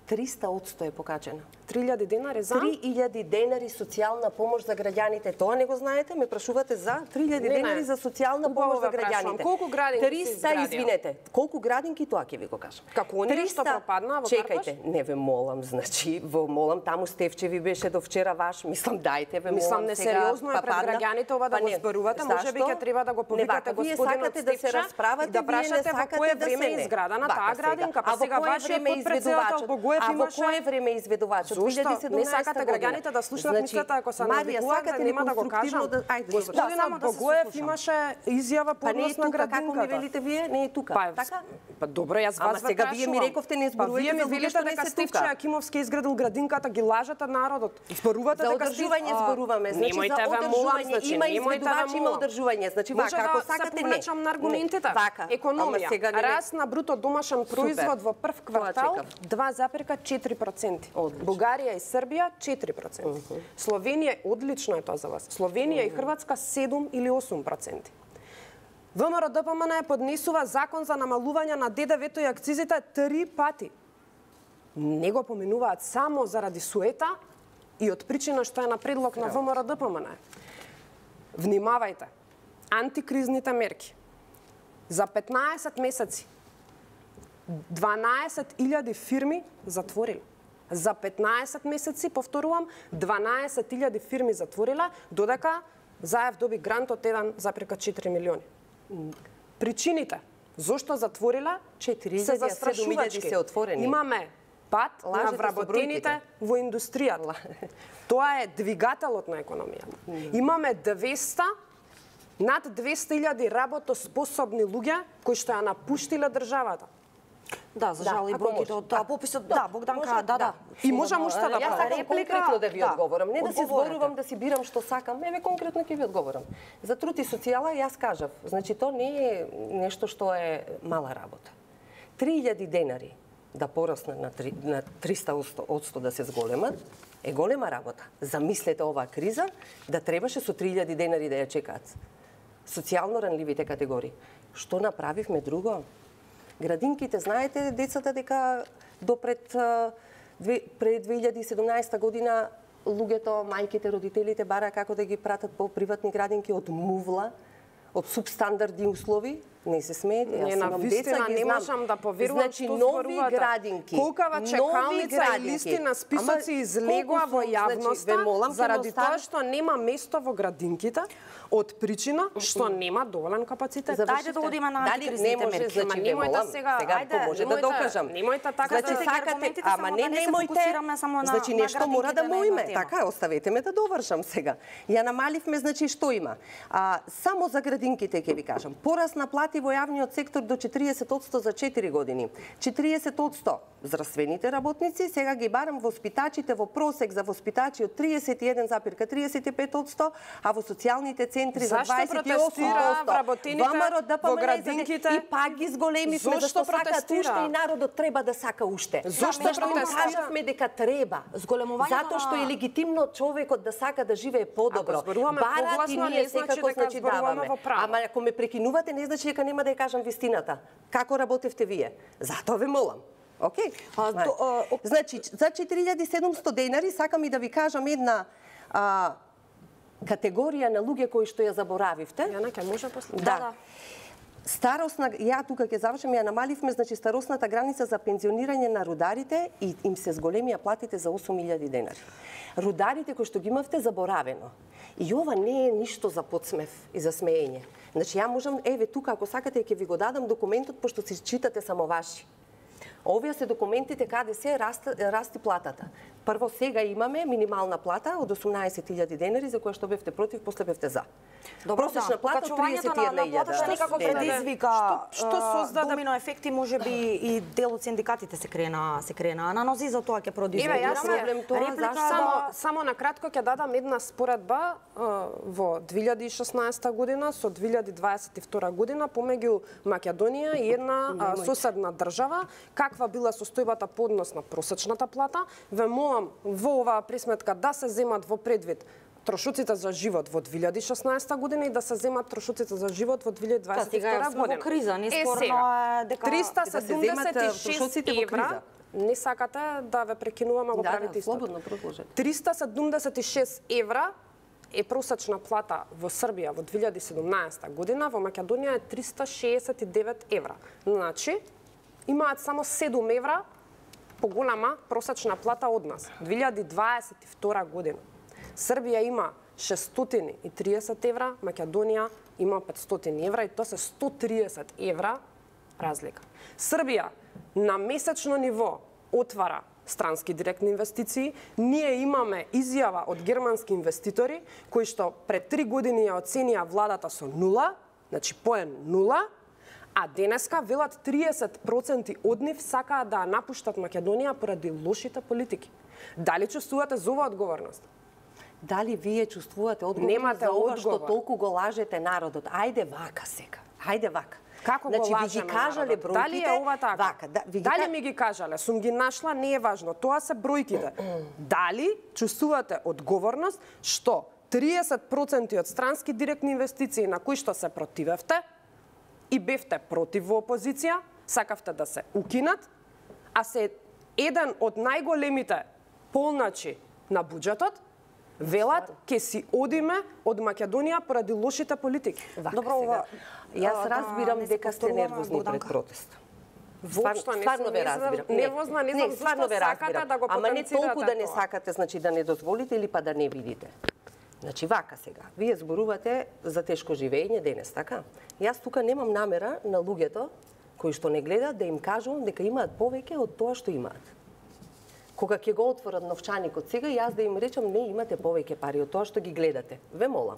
Speaker 2: триста одсто е покачена.
Speaker 3: три илјади денари за
Speaker 2: три илјади денари социјална помош за граѓаните. Тоа не го знаете? Ме прашувате за три илјади
Speaker 3: Не, не.
Speaker 2: денари за социјална
Speaker 3: Убаво
Speaker 2: помош за
Speaker 3: ве прашувам.
Speaker 2: граѓаните.
Speaker 3: Колку градинки се
Speaker 2: триста,
Speaker 3: изградија?
Speaker 2: извинете. Колку градинки, тоа ќе ви го кажам.
Speaker 3: Како оние што пропаднаа во
Speaker 2: Чекајте,
Speaker 3: Карпаш?
Speaker 2: не ве молам, значи, во молам таму Стефчеви беше до вчера ваш, мислам дајте ве
Speaker 3: Мислам,
Speaker 2: молам сега.
Speaker 3: несериозно е
Speaker 2: па
Speaker 3: пред
Speaker 2: падна.
Speaker 3: граѓаните ова да
Speaker 2: Па
Speaker 3: го
Speaker 2: не.
Speaker 3: зборувате, можеби
Speaker 2: Зашто?
Speaker 3: ќе треба да го
Speaker 2: Не,
Speaker 3: повикате
Speaker 2: вака, вие
Speaker 3: господинот
Speaker 2: сакате да се
Speaker 3: Стефча
Speaker 2: расправате,
Speaker 3: и да
Speaker 2: вие не
Speaker 3: прашате во
Speaker 2: сакате
Speaker 3: кое
Speaker 2: да
Speaker 3: време
Speaker 2: се
Speaker 3: е
Speaker 2: не.
Speaker 3: изградена
Speaker 2: Вака
Speaker 3: таа
Speaker 2: сега.
Speaker 3: градинка,
Speaker 2: А
Speaker 3: па
Speaker 2: во
Speaker 3: сега
Speaker 2: кое
Speaker 3: вашиот
Speaker 2: време е
Speaker 3: подпредседател
Speaker 2: изведувачот?
Speaker 3: во кое
Speaker 2: А во
Speaker 3: имаше...
Speaker 2: кое време изведувачот?
Speaker 3: Зошто? Не сакате граѓаните да слушнат
Speaker 2: Значи,
Speaker 3: мислата ако се
Speaker 2: Марија,
Speaker 3: навикуваат,
Speaker 2: сакате
Speaker 3: нема да го
Speaker 2: конструктивно
Speaker 3: кажам.
Speaker 2: да... Ајде,
Speaker 3: Господинот
Speaker 1: само да се
Speaker 3: Богоев
Speaker 1: сослушам.
Speaker 3: имаше изјава по
Speaker 2: Па не е
Speaker 3: однос на
Speaker 2: тука, како ми
Speaker 3: градинката.
Speaker 2: велите вие, не е тука.
Speaker 3: Па,
Speaker 2: така?
Speaker 3: Па добро, јас
Speaker 2: Ама
Speaker 3: вас ве
Speaker 2: сега вие ми
Speaker 3: прашувам.
Speaker 2: рековте, не
Speaker 3: Па
Speaker 2: зборувате
Speaker 3: вие ми
Speaker 2: за луѓе
Speaker 3: велите
Speaker 2: што не
Speaker 3: дека
Speaker 2: се
Speaker 3: Стефче
Speaker 2: тука.
Speaker 3: Акимовски изградил градинката, ги лажете народот. Зборувате
Speaker 2: За
Speaker 3: дека
Speaker 2: одржување
Speaker 3: Стеф-
Speaker 2: зборуваме. Значи,
Speaker 3: Немојте
Speaker 2: за
Speaker 3: ве молам,
Speaker 2: одржување
Speaker 3: значи,
Speaker 2: има
Speaker 3: немојте ве
Speaker 2: изведувач, има
Speaker 3: молам.
Speaker 2: одржување. Значи,
Speaker 3: Може
Speaker 2: вака, ако
Speaker 3: да се
Speaker 2: сакате, не.
Speaker 3: повлечам на аргументите.
Speaker 2: Не. Вака. Ама
Speaker 3: Економија.
Speaker 2: сега не-
Speaker 3: Раст на бруто домашен производ во прв квартал
Speaker 2: чекам.
Speaker 3: два запирка четири проценти.
Speaker 2: Одлично.
Speaker 3: Бугарија и Србија четири проценти. Словенија, одлично е тоа за вас. Словенија и Хрватска седум или осум проценти. ВМРО Д П М Н поднесува закон за намалување на Д Д В-то и акцизите три пати. Не го поменуваат само заради суета и од причина што е на предлог на ВМРО Д П М Н. Внимавајте. Антикризните мерки. За петнаесет месеци дванаесет илјади фирми затвориле. За петнаесет месеци, повторувам, дванаесет илјади фирми затвориле, додека Заев доби грант од еден запирка четири милиони. Причините зошто затвориле
Speaker 2: четири
Speaker 3: се
Speaker 2: илјади, а седум илјади
Speaker 3: застрашувачки.
Speaker 2: се отворени.
Speaker 3: Имаме пат
Speaker 2: Лажете
Speaker 3: на
Speaker 2: со
Speaker 3: вработените
Speaker 2: бројките.
Speaker 3: во индустријата. Тоа е двигателот на економијата. Имаме двеста над двеста илјади работоспособни луѓе кои што ја напуштиле државата.
Speaker 1: Да, за жал и
Speaker 2: ако
Speaker 1: бројките
Speaker 2: може.
Speaker 1: од тоа пописот. Да, Богданка,
Speaker 2: Може,
Speaker 1: да, да.
Speaker 3: И можам уште да
Speaker 2: Јас
Speaker 3: правам.
Speaker 2: сакам конкретно да ви
Speaker 1: да.
Speaker 2: одговорам, не да си
Speaker 1: Одговорете.
Speaker 2: зборувам, да си бирам што сакам, еве конкретно ќе ви одговорам. За труд и социјала јас кажав, значи тоа не е нешто што е мала работа. три илјади денари да пораснат на, три, на триста одсто да се зголемат, е голема работа. Замислете оваа криза, да требаше со три илјади денари да ја чекаат социјално ранливите категории. Што направивме друго? Градинките, знаете, децата дека до пред, а, две, пред две илјади и седумнаесета година луѓето, мајките, родителите бара како да ги пратат по приватни градинки од мувла, од субстандардни услови. Не се смеете, јас
Speaker 3: Не, на
Speaker 2: имам
Speaker 3: вистина
Speaker 2: деца, ги
Speaker 3: не
Speaker 2: знам.
Speaker 3: можам да поверувам
Speaker 2: Значи,
Speaker 3: што
Speaker 2: нови
Speaker 3: зборувате.
Speaker 2: градинки.
Speaker 3: Колкава
Speaker 2: нови
Speaker 3: чекалница и
Speaker 2: градинки.
Speaker 3: листи на списоци
Speaker 2: Ама,
Speaker 3: излегува
Speaker 2: колку
Speaker 3: во
Speaker 2: сум,
Speaker 3: јавноста,
Speaker 2: значи, ве молам, ќе
Speaker 3: заради
Speaker 2: ме остави-
Speaker 3: тоа што нема место во градинките, од причина што нема доволен капацитет.
Speaker 1: За- Ајде да одиме на
Speaker 2: Дали
Speaker 1: антикризните
Speaker 2: не може,
Speaker 1: мерки?
Speaker 2: значи,
Speaker 3: Ама
Speaker 2: ве
Speaker 3: немојте
Speaker 2: молам,
Speaker 3: сега,
Speaker 2: сега
Speaker 3: ајде,
Speaker 2: ако може да
Speaker 3: немојте-
Speaker 2: докажам.
Speaker 3: немојте така
Speaker 2: Значи,
Speaker 3: да-
Speaker 2: сакате,
Speaker 1: аргументите,
Speaker 2: ама
Speaker 1: само
Speaker 2: не
Speaker 1: да не се
Speaker 2: немојте,
Speaker 1: фокусираме само на-
Speaker 2: значи
Speaker 1: на
Speaker 2: нешто мора да
Speaker 1: градинките на
Speaker 2: му
Speaker 1: една
Speaker 2: име.
Speaker 1: тема.
Speaker 2: Така, оставете ме да довршам сега. Ја намаливме, значи што има? А, само за градинките ќе ви кажам. Порас на плати во јавниот сектор до четириесет одсто за четири години. четириесет одсто здравствените работници, сега ги барам воспитачите во просек за воспитачи од тридесет и еден запир тридесет и пет одсто, а во социјалните центри за
Speaker 3: Зашто
Speaker 2: дваесет и осум
Speaker 3: протестира
Speaker 2: одсто.
Speaker 3: вработените
Speaker 2: ВМРО ДПМН
Speaker 3: во
Speaker 2: за-
Speaker 3: градинките?
Speaker 2: И пак ги зголемивме,
Speaker 3: Зошто
Speaker 2: зашто сакаат
Speaker 3: протестира?
Speaker 2: уште и народот треба да сака уште.
Speaker 3: Зошто
Speaker 2: Зашто им
Speaker 3: протестира?
Speaker 2: кажавме дека треба.
Speaker 1: Зголемувањето
Speaker 2: Затоа што
Speaker 1: на-
Speaker 2: е легитимно човекот да сака да живее подобро.
Speaker 3: Ако зборуваме
Speaker 2: Барат и
Speaker 3: погласно,
Speaker 2: ние
Speaker 3: не значи
Speaker 2: секако
Speaker 3: дека
Speaker 2: значи
Speaker 3: зборуваме
Speaker 2: даваме.
Speaker 3: во право.
Speaker 2: Ама ако ме прекинувате, не значи дека нема да ја кажам вистината. Како работевте вие? Затоа ве молам. Океј?
Speaker 1: А,
Speaker 2: Знај.
Speaker 1: до- а, о-
Speaker 2: Значи, за четири илјади и седумсто денари сакам и да ви кажам една а, категорија на луѓе кои што ја заборавивте.
Speaker 3: Јана ќе може после.
Speaker 2: Да.
Speaker 1: да.
Speaker 2: Старосна, ја тука ќе завршам, ја намаливме, значи старосната граница за пензионирање на рударите и им се зголемија платите за осум илјади денари. Рударите кои што ги имавте заборавено. И ова не е ништо за подсмев и за смеење. Значи ја можам, еве тука ако сакате ќе ви го дадам документот пошто си читате само ваши. Овие се документите каде се расти, расти платата. Прво сега имаме минимална плата од осумнаесет илјади денари за која што бевте против, после бевте за.
Speaker 1: Добро,
Speaker 2: Просечна
Speaker 1: да.
Speaker 2: плата од
Speaker 1: Покачувањето
Speaker 2: тридесет и една
Speaker 1: на- на платата
Speaker 2: илјада
Speaker 1: некако
Speaker 2: денари.
Speaker 1: предизвика
Speaker 3: Што- што
Speaker 1: а,
Speaker 3: создаде-
Speaker 1: домино ефекти, можеби и дел од синдикатите се крена, се крена на нози, за тоа ќе
Speaker 3: Еве,
Speaker 1: продискутираме.
Speaker 3: јас
Speaker 2: проблем тоа,
Speaker 1: Реплика
Speaker 2: зашто?
Speaker 3: Само,
Speaker 1: да-
Speaker 3: само на кратко ќе дадам една споредба а, во две илјади и шеснаесета година со две илјади дваесет и втора година помеѓу Македонија и една а, соседна држава, каква била состојбата по однос на просечната плата. Ве молам во оваа пресметка да се земат во предвид трошоците за живот во две илјади и шеснаесета година и да се земат трошоците за живот во две илјади дваесет и втора
Speaker 1: Та, сега
Speaker 3: година.
Speaker 1: во криза, не
Speaker 3: Е,
Speaker 1: спорно
Speaker 3: сега,
Speaker 1: е дека-
Speaker 3: триста
Speaker 2: Дека се
Speaker 3: седумдесет и
Speaker 2: земат
Speaker 3: шест
Speaker 2: трошоците во криза.
Speaker 3: евра. Не сакате да ве прекинувам, а го
Speaker 2: Да,
Speaker 3: правите
Speaker 2: да,
Speaker 3: истото.
Speaker 2: слободно продолжете.
Speaker 3: триста седумдесет и шест евра е просечна плата во Србија во две илјади и седумнаесета година, во Македонија е триста шеесет и девет евра. Значи, имаат само седум евра поголема просечна плата од нас. две илјади дваесет и втора година. Србија има шестстотини и триесет евра, Македонија има петстотини евра и тоа се сто триесет евра разлика. Србија на месечно ниво отвара странски директни инвестиции. Ние имаме изјава од германски инвеститори кои што пред три години ја оценија владата со нула, значи поен нула, а денеска велат триесет проценти од нив сакаат да напуштат Македонија поради лошите политики. Дали чувствувате за оваа одговорност?
Speaker 2: Дали вие чувствувате одговорност
Speaker 3: Немате
Speaker 2: за ова што
Speaker 3: одговор.
Speaker 2: толку го лажете народот? Ајде вака сега. Ајде вака.
Speaker 3: Како
Speaker 2: значи,
Speaker 3: го
Speaker 2: ви
Speaker 3: лажеме
Speaker 2: ги кажале
Speaker 3: народот?
Speaker 2: бројките?
Speaker 3: Дали е ова така?
Speaker 2: Вака, да, ви ги
Speaker 3: Дали
Speaker 2: ка-
Speaker 3: ми ги кажале? Сум ги нашла, не е важно. Тоа се бројките. Дали чувствувате одговорност што триесет проценти од странски директни инвестиции на кои што се противевте и бевте против во опозиција, сакавте да се укинат, а се еден од најголемите полначи на буџетот, велат ке си одиме од Македонија поради лошите политики.
Speaker 2: Вака
Speaker 1: Добро,
Speaker 2: сега.
Speaker 1: ова-
Speaker 2: Јас
Speaker 1: да,
Speaker 2: разбирам
Speaker 1: не се
Speaker 2: дека сте
Speaker 1: повторуваме,
Speaker 2: нервозни пред
Speaker 1: Богданка.
Speaker 2: протест.
Speaker 3: Воопшто не
Speaker 2: стварно
Speaker 3: сум
Speaker 2: ве
Speaker 3: нервозна,
Speaker 2: разбирам.
Speaker 3: нервозна, не знам
Speaker 2: не,
Speaker 3: зашто
Speaker 2: стварно ве
Speaker 3: сакате
Speaker 2: разбирам.
Speaker 3: да го
Speaker 2: Ама не
Speaker 3: потенцирате
Speaker 2: толку да не
Speaker 3: тоа.
Speaker 2: сакате, значи да не дозволите или па да не видите. Значи вака сега, вие зборувате за тешко живење денес, така? Јас тука немам намера на луѓето кои што не гледаат да им кажувам дека имаат повеќе од тоа што имаат. Кога ќе го отворат новчаникот сега, јас да им речам не имате повеќе пари од тоа што ги гледате. Ве молам.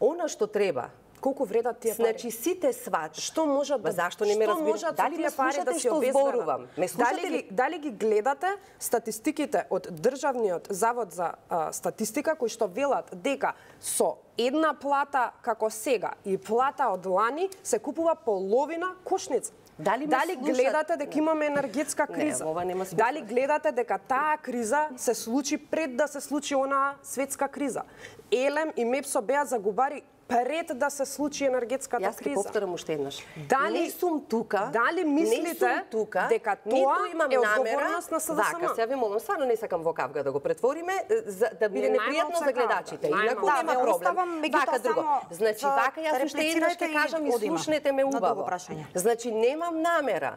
Speaker 2: Она што треба,
Speaker 3: Колку вредат тие пари?
Speaker 2: значи сите сват.
Speaker 3: Што можат да
Speaker 2: Зашто не ме
Speaker 3: што
Speaker 2: разбирате?
Speaker 3: можат
Speaker 2: Дали
Speaker 3: со
Speaker 2: ме
Speaker 3: тие пари
Speaker 2: слушате
Speaker 3: да се
Speaker 2: што
Speaker 3: обезбедат?
Speaker 2: зборувам? Ме слушате
Speaker 3: Дали
Speaker 2: ли?
Speaker 3: ги, дали ги гледате статистиките од Државниот завод за а, статистика кои што велат дека со една плата како сега и плата од лани се купува половина кошница?
Speaker 2: Дали ме
Speaker 3: Дали
Speaker 2: слушат?
Speaker 3: гледате дека имаме енергетска
Speaker 2: Не,
Speaker 3: криза?
Speaker 2: ова нема смисла.
Speaker 3: Дали гледате дека таа криза се случи пред да се случи онаа светска криза? Елем и Мепсо беа загубари пред да се случи енергетската
Speaker 2: Јас ќе
Speaker 3: криза.
Speaker 2: повторам уште еднаш.
Speaker 3: Дали-
Speaker 2: не сум тука,
Speaker 3: дали
Speaker 2: не
Speaker 3: мислите
Speaker 2: сум тука,
Speaker 3: дека тоа
Speaker 2: ниту имам
Speaker 3: е
Speaker 2: намера,
Speaker 3: одговорност на СДСМ?
Speaker 2: Вака, сега ви молам, стварно не сакам во кавга да го претвориме, за да биде
Speaker 3: Не,
Speaker 2: непријатно
Speaker 3: најмалку
Speaker 2: за
Speaker 3: е
Speaker 2: гледачите.
Speaker 3: кавга,
Speaker 2: Инаку
Speaker 3: најмалку.
Speaker 2: нема
Speaker 1: Да, ве
Speaker 2: проблем.
Speaker 1: оставам, меѓутоа,
Speaker 2: Вака друго.
Speaker 1: само
Speaker 2: Значи,
Speaker 1: за
Speaker 2: вака јас уште еднаш ќе
Speaker 1: реплицирате и
Speaker 2: кажам и
Speaker 1: одиме
Speaker 2: слушнете ме
Speaker 1: на
Speaker 2: убаво.
Speaker 1: друго прашање.
Speaker 2: Значи, немам намера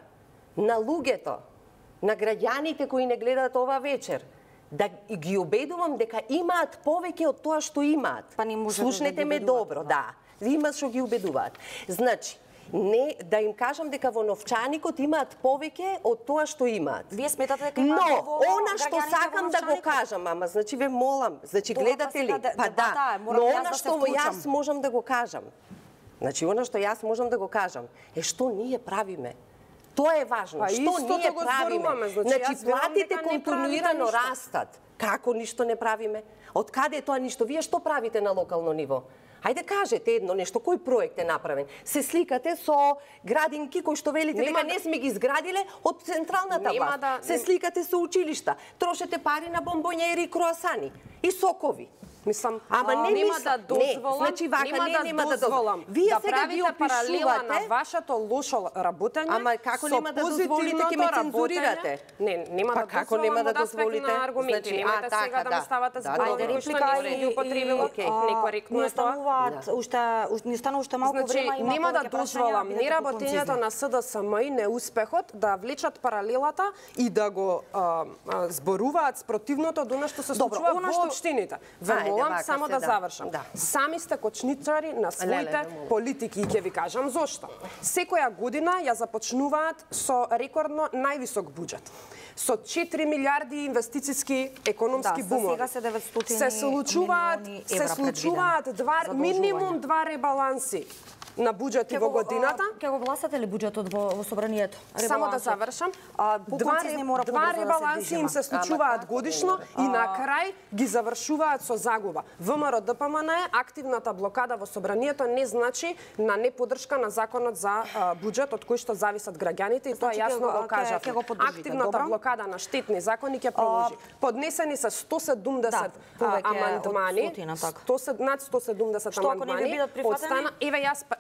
Speaker 2: на луѓето, на граѓаните кои не гледаат ова вечер, да ги обедувам дека имаат повеќе од тоа што имаат.
Speaker 1: Па не можете
Speaker 2: Слушнете
Speaker 1: да ги
Speaker 2: ме
Speaker 1: убедувате,
Speaker 2: добро,
Speaker 1: да.
Speaker 2: да. Има што ги убедуваат. Значи, не да им кажам дека во новчаникот имаат повеќе од тоа што имаат.
Speaker 1: Вие сметате дека имаат
Speaker 2: Но,
Speaker 1: доволно
Speaker 2: она што
Speaker 1: граѓаните во
Speaker 2: сакам да го
Speaker 1: новчаникот?
Speaker 2: кажам, ама значи ве молам, значи
Speaker 1: Тоа,
Speaker 2: гледате
Speaker 1: па
Speaker 2: ли?
Speaker 1: сега де-
Speaker 2: Па
Speaker 1: дебата
Speaker 2: да,
Speaker 1: е, морам
Speaker 2: но
Speaker 1: јас
Speaker 2: она
Speaker 1: да се
Speaker 2: што
Speaker 1: вклучам.
Speaker 2: јас можам да го кажам. Значи, она што јас можам да го кажам е што ние правиме. Тоа е важно.
Speaker 3: Па
Speaker 2: што
Speaker 3: истото
Speaker 2: ние
Speaker 3: го
Speaker 2: правиме?
Speaker 3: зборуваме, значи,
Speaker 2: Значи,
Speaker 3: јас велам
Speaker 2: платите
Speaker 3: дека не правите
Speaker 2: континуирано
Speaker 3: ништо.
Speaker 2: растат. Како ништо не правиме? Од каде е тоа ништо? Вие што правите на локално ниво? Ајде кажете едно нешто, кој проект е направен? Се сликате со градинки кои што велите
Speaker 3: Нема
Speaker 2: дека
Speaker 3: да-
Speaker 2: не сме ги изградиле од централната
Speaker 3: Нема
Speaker 2: власт.
Speaker 3: да-
Speaker 2: Се сликате со училишта, трошете пари на бомбонјери и круасани и сокови.
Speaker 3: Мислам,
Speaker 2: Ама не
Speaker 3: нема
Speaker 2: мисла-
Speaker 3: да дозволам,
Speaker 2: не, значи вака,
Speaker 3: нема
Speaker 2: не,
Speaker 3: да
Speaker 2: нема да
Speaker 3: дозволам
Speaker 2: дозволам. Вие
Speaker 3: да
Speaker 2: сега ги
Speaker 3: правите паралела на
Speaker 2: опишувате-
Speaker 3: вашето лошо работење.
Speaker 2: Ама како
Speaker 3: со
Speaker 2: нема да дозволите, ќе ме
Speaker 3: позитивното
Speaker 2: цензурирате?
Speaker 3: работење. Не, нема
Speaker 2: Па
Speaker 3: да
Speaker 2: како
Speaker 3: дозволам
Speaker 2: нема да
Speaker 3: од аспект
Speaker 2: дозволите?
Speaker 3: на аргументи.
Speaker 2: Значи,
Speaker 3: Немате
Speaker 2: а, така,
Speaker 3: сега да
Speaker 2: да.
Speaker 3: ми ставате
Speaker 2: Да,
Speaker 3: зборови
Speaker 2: добро.
Speaker 3: кои што
Speaker 1: Реплика
Speaker 3: не сте ги употребила.
Speaker 2: Окей.
Speaker 3: Некоректно
Speaker 1: Ни
Speaker 3: е тоа.
Speaker 1: остануваат уште уш- ни остана уште малку
Speaker 3: Значи,
Speaker 1: време, има
Speaker 3: нема да
Speaker 1: повеќе прашања,
Speaker 3: дозволам
Speaker 1: бидете
Speaker 3: неработењето
Speaker 1: поконцизни.
Speaker 3: на СДСМ и неуспехот да влечат паралелата и да го а, а, зборуваат спротивното од она што се
Speaker 1: Добро,
Speaker 3: случува
Speaker 1: она
Speaker 3: во
Speaker 1: што-
Speaker 3: општините. Ве
Speaker 2: Ајде,
Speaker 3: молам
Speaker 2: вака
Speaker 3: само
Speaker 2: се,
Speaker 3: да
Speaker 2: да.
Speaker 3: завршам.
Speaker 2: Да.
Speaker 3: Сами сте кочничари на своите
Speaker 2: Леле, ве молам.
Speaker 3: политики и ќе ви кажам зошто. Секоја година ја започнуваат со рекордно највисок буџет. Со четири милиарди инвестициски економски
Speaker 1: Да, за
Speaker 3: бумови.
Speaker 1: сега се деветстотини
Speaker 3: се случуваат,
Speaker 1: милиони
Speaker 3: се
Speaker 1: евра
Speaker 3: случуваат два,
Speaker 1: предвидени
Speaker 3: минимум два ребаланси на буџети
Speaker 1: Ќе
Speaker 3: во
Speaker 1: го,
Speaker 3: годината.
Speaker 1: а, Ќе го гласате ли буџетот во, во собранието?
Speaker 3: Само да
Speaker 1: Ребалансот?
Speaker 3: завршам.
Speaker 1: А,
Speaker 3: Два,
Speaker 1: поконцизни мора
Speaker 3: два
Speaker 1: побрзо да се
Speaker 3: ребаланси им
Speaker 1: движиме.
Speaker 3: се случуваат
Speaker 2: како
Speaker 3: годишно и на крај ги завршуваат со загуба. ВМРО ДПМН е активната блокада во собранието не значи на неподршка на законот за а, буџет од кој што зависат граѓаните и тоа
Speaker 1: Значи,
Speaker 3: јасно
Speaker 1: ќе го-
Speaker 3: го
Speaker 1: ќе-
Speaker 3: кажавме.
Speaker 1: ќе го поддржите,
Speaker 3: Активната
Speaker 1: добро.
Speaker 3: блокада на штетни закони ќе продолжи. Поднесени се сто седумдесет
Speaker 1: Да,
Speaker 3: а,
Speaker 1: повеќе од
Speaker 3: амандмани,
Speaker 1: стотина, така.
Speaker 3: сто сед- над сто седумдесет
Speaker 1: Што ако не
Speaker 3: амандмани.
Speaker 1: ви бидат прифатени?
Speaker 3: Од еве јас па-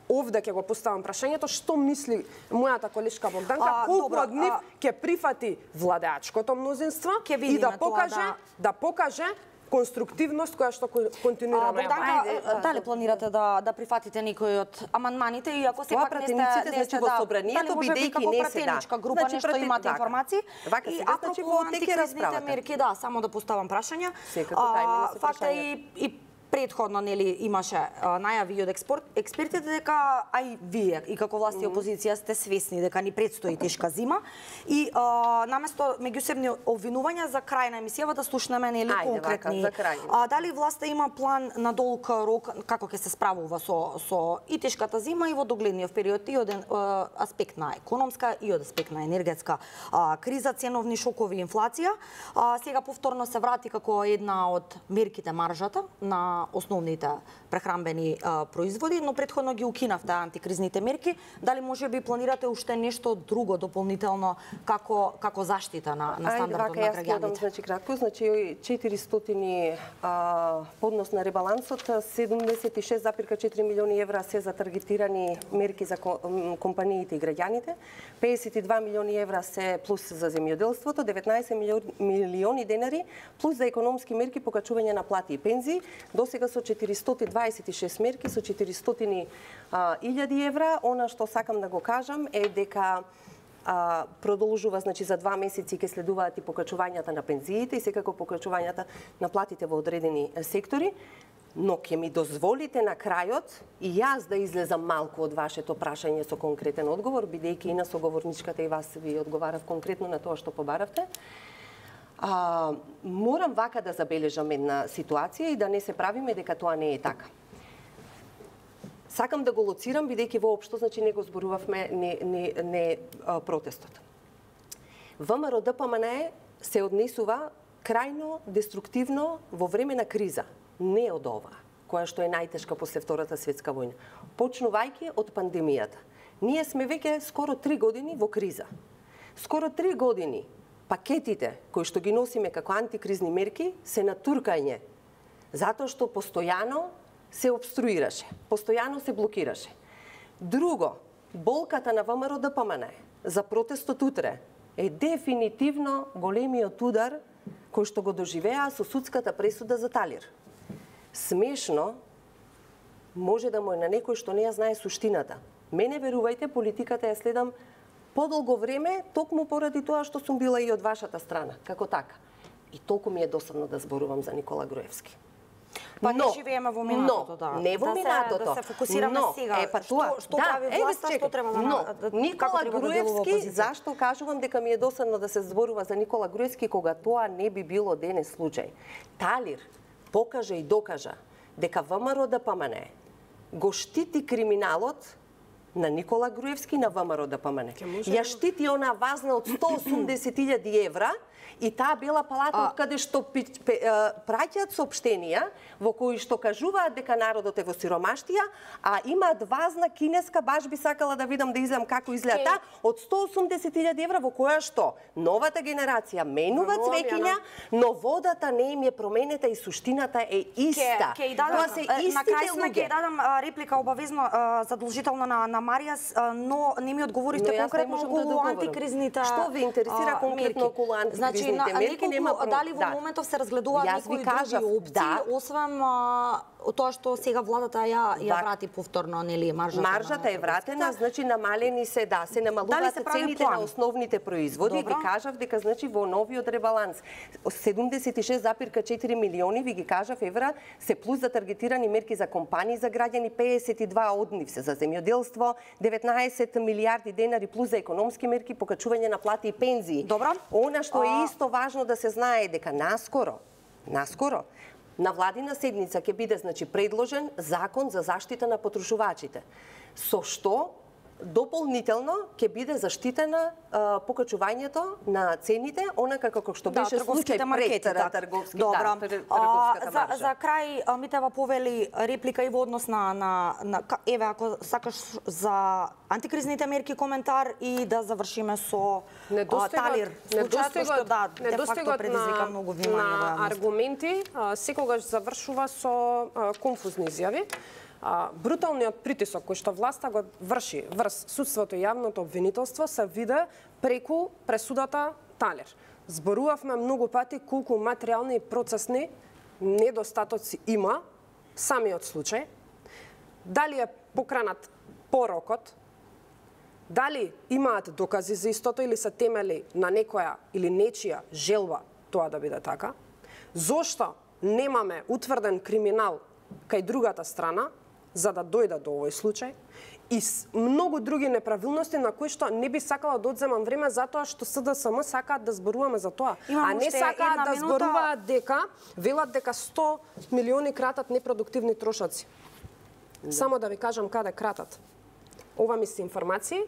Speaker 3: овде ќе го поставам прашањето што мисли мојата колешка Богданка,
Speaker 1: А,
Speaker 3: колку
Speaker 1: добро,
Speaker 3: од нив
Speaker 1: а-
Speaker 3: ќе прифати владеачкото мнозинство
Speaker 1: Ќе
Speaker 3: и
Speaker 1: видиме
Speaker 3: да
Speaker 1: тоа,
Speaker 3: покаже
Speaker 1: да.
Speaker 3: да покаже конструктивност која што кон-
Speaker 1: А,
Speaker 3: континуирано ја
Speaker 1: Богданка,
Speaker 3: прави.
Speaker 1: а, дали планирате да да прифатите некој од амандманите и ако
Speaker 2: Тоа
Speaker 1: сепак не сте
Speaker 2: пратениците,
Speaker 1: не
Speaker 2: значи,
Speaker 1: сте
Speaker 2: во
Speaker 1: да,
Speaker 2: собранието,
Speaker 1: дали може би
Speaker 2: бидејќи
Speaker 1: како
Speaker 2: не се,
Speaker 1: пратеничка
Speaker 2: да.
Speaker 1: група
Speaker 2: Значи,
Speaker 1: нешто
Speaker 2: пратен-
Speaker 1: имате
Speaker 2: вака.
Speaker 1: информации?
Speaker 2: Вака
Speaker 1: И
Speaker 2: сега, значи,
Speaker 1: апропо
Speaker 2: во тек е
Speaker 1: антикризните
Speaker 2: расправата.
Speaker 1: мерки, да, само да поставам прашања.
Speaker 2: Секако, кај мене се
Speaker 1: Факт е
Speaker 2: прашања.
Speaker 1: и и Предходно нели имаше а, најави од експорт, експертите дека а и вие и како власт и опозиција сте свесни дека ни предстои тешка зима и а, наместо меѓусебни обвинувања за крај на емисијава да слушнеме нели
Speaker 2: Ајде,
Speaker 1: конкретни.
Speaker 2: вака, за крај.
Speaker 1: А, дали власта има план на долг рок како ќе се справува со со и тешката зима и во догледниот период и од а, аспект на економска и од аспект на енергетска а, криза, ценовни шокови, инфлација. А, сега повторно се врати како една од мерките маржата на основните прехранбени а, производи, но претходно ги укинавте антикризните мерки. Дали може би планирате уште нешто друго дополнително како како заштита на на стандардот на граѓаните?
Speaker 2: Ајде, вака, значи кратко, значи четиристотини а, поднос на ребалансот, седумдесет и шест зарез и четири милиони евра се за таргетирани мерки за компаниите и граѓаните, педесет и два милиони евра се плюс за земјоделството, деветнаесет милиони денари плюс за економски мерки покачување на плати и пензии. До сега со четиристотини дваесет и шест мерки со четиристотини илјади евра. Она што сакам да го кажам е дека а, продолжува, значи за два месеци ќе следуваат и покачувањата на пензиите и секако покачувањата на платите во одредени сектори, но ќе ми дозволите на крајот и јас да излезам малку од вашето прашање со конкретен одговор, бидејќи и на соговорничката и вас ви одговарав конкретно на тоа што побаравте. А, морам вака да забележам една ситуација и да не се правиме дека тоа не е така. Сакам да го лоцирам, бидејќи воопшто, значи не го зборувавме не, не, не а, протестот. ВМРО Д П М Н се однесува крајно деструктивно во време на криза, не од ова, која што е најтешка после Втората светска војна. Почнувајќи од пандемијата. Ние сме веќе скоро три години во криза. Скоро три години пакетите кои што ги носиме како антикризни мерки се натуркање, затоа што постојано се обструираше, постојано се блокираше. Друго, болката на ВМРО Д П М Н за протестот утре е дефинитивно големиот удар кој што го доживеа со судската пресуда за Талир. Смешно може да му е на некој што не ја знае суштината. Мене, верувајте, политиката ја следам подолго време, токму поради тоа што сум била и од вашата страна, како така. И толку ми е досадно да зборувам за Никола Груевски.
Speaker 1: Па не живееме во минатото, да.
Speaker 2: Не во
Speaker 1: да
Speaker 2: минатото.
Speaker 1: Да се фокусираме
Speaker 2: но,
Speaker 1: сега.
Speaker 2: Е, па тоа,
Speaker 1: што, што
Speaker 2: да,
Speaker 1: прави власта,
Speaker 2: е,
Speaker 1: што треба да,
Speaker 2: но,
Speaker 1: да
Speaker 2: Никола
Speaker 1: како
Speaker 2: Груевски,
Speaker 1: да
Speaker 2: зашто кажувам дека ми е досадно да се зборува за Никола Груевски кога тоа не би било денес случај. Талир покажа и докажа дека ВМРО Д П М Н го штити криминалот на Никола Груевски на ВМРО Д П М Н. Ја штити она вазна од сто осумдесет илјади евра и таа бела палата од каде што праќаат соопштенија во кои што кажуваат дека народот е во сиромаштија, а имаат вазна кинеска, баш би сакала да видам да изгледам како изгледа таа, од сто осумдесет илјади евра во која што новата генерација менува цвеќиња, но водата не им е променета и суштината е иста.
Speaker 1: Ке, ке дадам,
Speaker 2: Тоа се истите
Speaker 1: на крај сме
Speaker 2: луѓе.
Speaker 1: ќе дадам реплика обавезно задолжително на на Маријас, но не ми одговоривте конкретно околу
Speaker 2: да
Speaker 1: антикризните
Speaker 2: Што ви интересира конкретно околу антикризните
Speaker 1: значи,
Speaker 2: мерки? Нема
Speaker 1: дали во
Speaker 2: да.
Speaker 1: моментов се разгледуваат
Speaker 2: Јас ви
Speaker 1: некои
Speaker 2: кажав,
Speaker 1: други опции,
Speaker 2: да.
Speaker 1: освен а, тоа што сега владата ја ја
Speaker 2: Да.
Speaker 1: врати повторно, нели, маржата.
Speaker 2: Маржата е вратена, значи намалени се, да, се намалуваат
Speaker 1: се прави
Speaker 2: цените
Speaker 1: план?
Speaker 2: на основните производи.
Speaker 1: Добро.
Speaker 2: Ви кажав дека значи во новиот ребаланс седумдесет и шест зарез и четири милиони, ви ги кажав, евра се плюс за таргетирани мерки за компании за граѓани, педесет и два од нив се за земјоделство, деветнаесет милијарди денари плюс за економски мерки, покачување на плати и пензии.
Speaker 1: Добро.
Speaker 2: Она што е
Speaker 1: А...
Speaker 2: исто важно да се знае дека наскоро, наскоро на владина седница ќе биде значи предложен закон за заштита на потрошувачите, со што дополнително ќе биде заштитена а, покачувањето на цените, онака како што беше
Speaker 1: да,
Speaker 2: случај пред
Speaker 1: да.
Speaker 2: трговски,
Speaker 1: Добро.
Speaker 2: да, трговската
Speaker 1: за,
Speaker 2: маржа.
Speaker 1: за крај Митева повели реплика и во однос на, на, на еве ако сакаш за антикризните мерки коментар и да завршиме со а, Талир. Случајот што да, де факто предизвика многу внимание
Speaker 3: на аргументи а, секогаш завршува со а, конфузни изјави. А, бруталниот притисок кој што власта го врши врз судството и јавното обвинителство се виде преку пресудата Талир. Зборувавме многу пати колку материјални и процесни недостатоци има самиот случај. Дали е покранат порокот, дали имаат докази за истото или се темели на некоја или нечија желба тоа да биде така, зошто немаме утврден криминал кај другата страна за да дојда до овој случај и многу други неправилности на кои што не би сакала да одземам време затоа што СДСМ сакаат да зборуваме за тоа,
Speaker 1: Имам
Speaker 3: а не сакаат да
Speaker 1: минута...
Speaker 3: зборуваат дека велат дека сто милиони кратат непродуктивни трошоци. Да. Само да ви кажам каде кратат. Ова ми се информации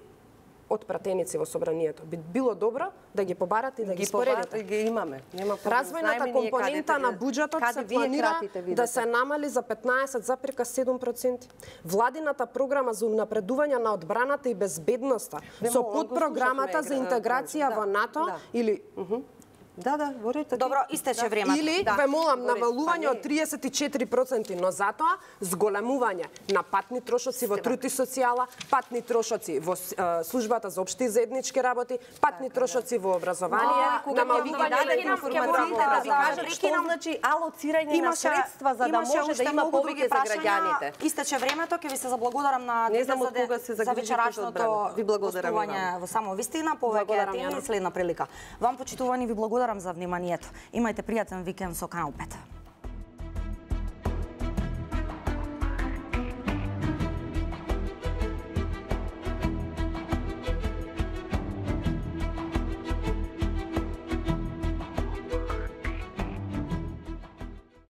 Speaker 3: од пратеници во собранието. Би било добро да ги побарате и да ги, ги споредите.
Speaker 2: Ги имаме. Нема проблем.
Speaker 3: Развојната компонента на буџетот се планира да се намали за петнаесет запирка седум проценти. Владината програма за унапредување на одбраната и безбедноста со подпрограмата за интеграција во НАТО или
Speaker 2: Да, да, говорите.
Speaker 1: Добро, истече времето.
Speaker 3: Или,
Speaker 1: да.
Speaker 3: ве молам, навалување од триесет и четири проценти, но затоа зголемување на патни трошоци во труд и социјала, патни трошоци во е, службата за општи и заеднички работи, патни трошоци во образование, намалување на
Speaker 2: информациите, да ви кажат што значи алоцирање на средства за да може да има повеќе за граѓаните.
Speaker 1: Истече времето, ќе ви се заблагодарам на
Speaker 2: не знам од кога се
Speaker 1: за вечерашното
Speaker 2: ви благодарам
Speaker 1: гостување во Само вистина, повеќе теми и следна прилика. Вам почитувани ви благодарам за вниманието. Имајте пријатен викенд со Канал пет.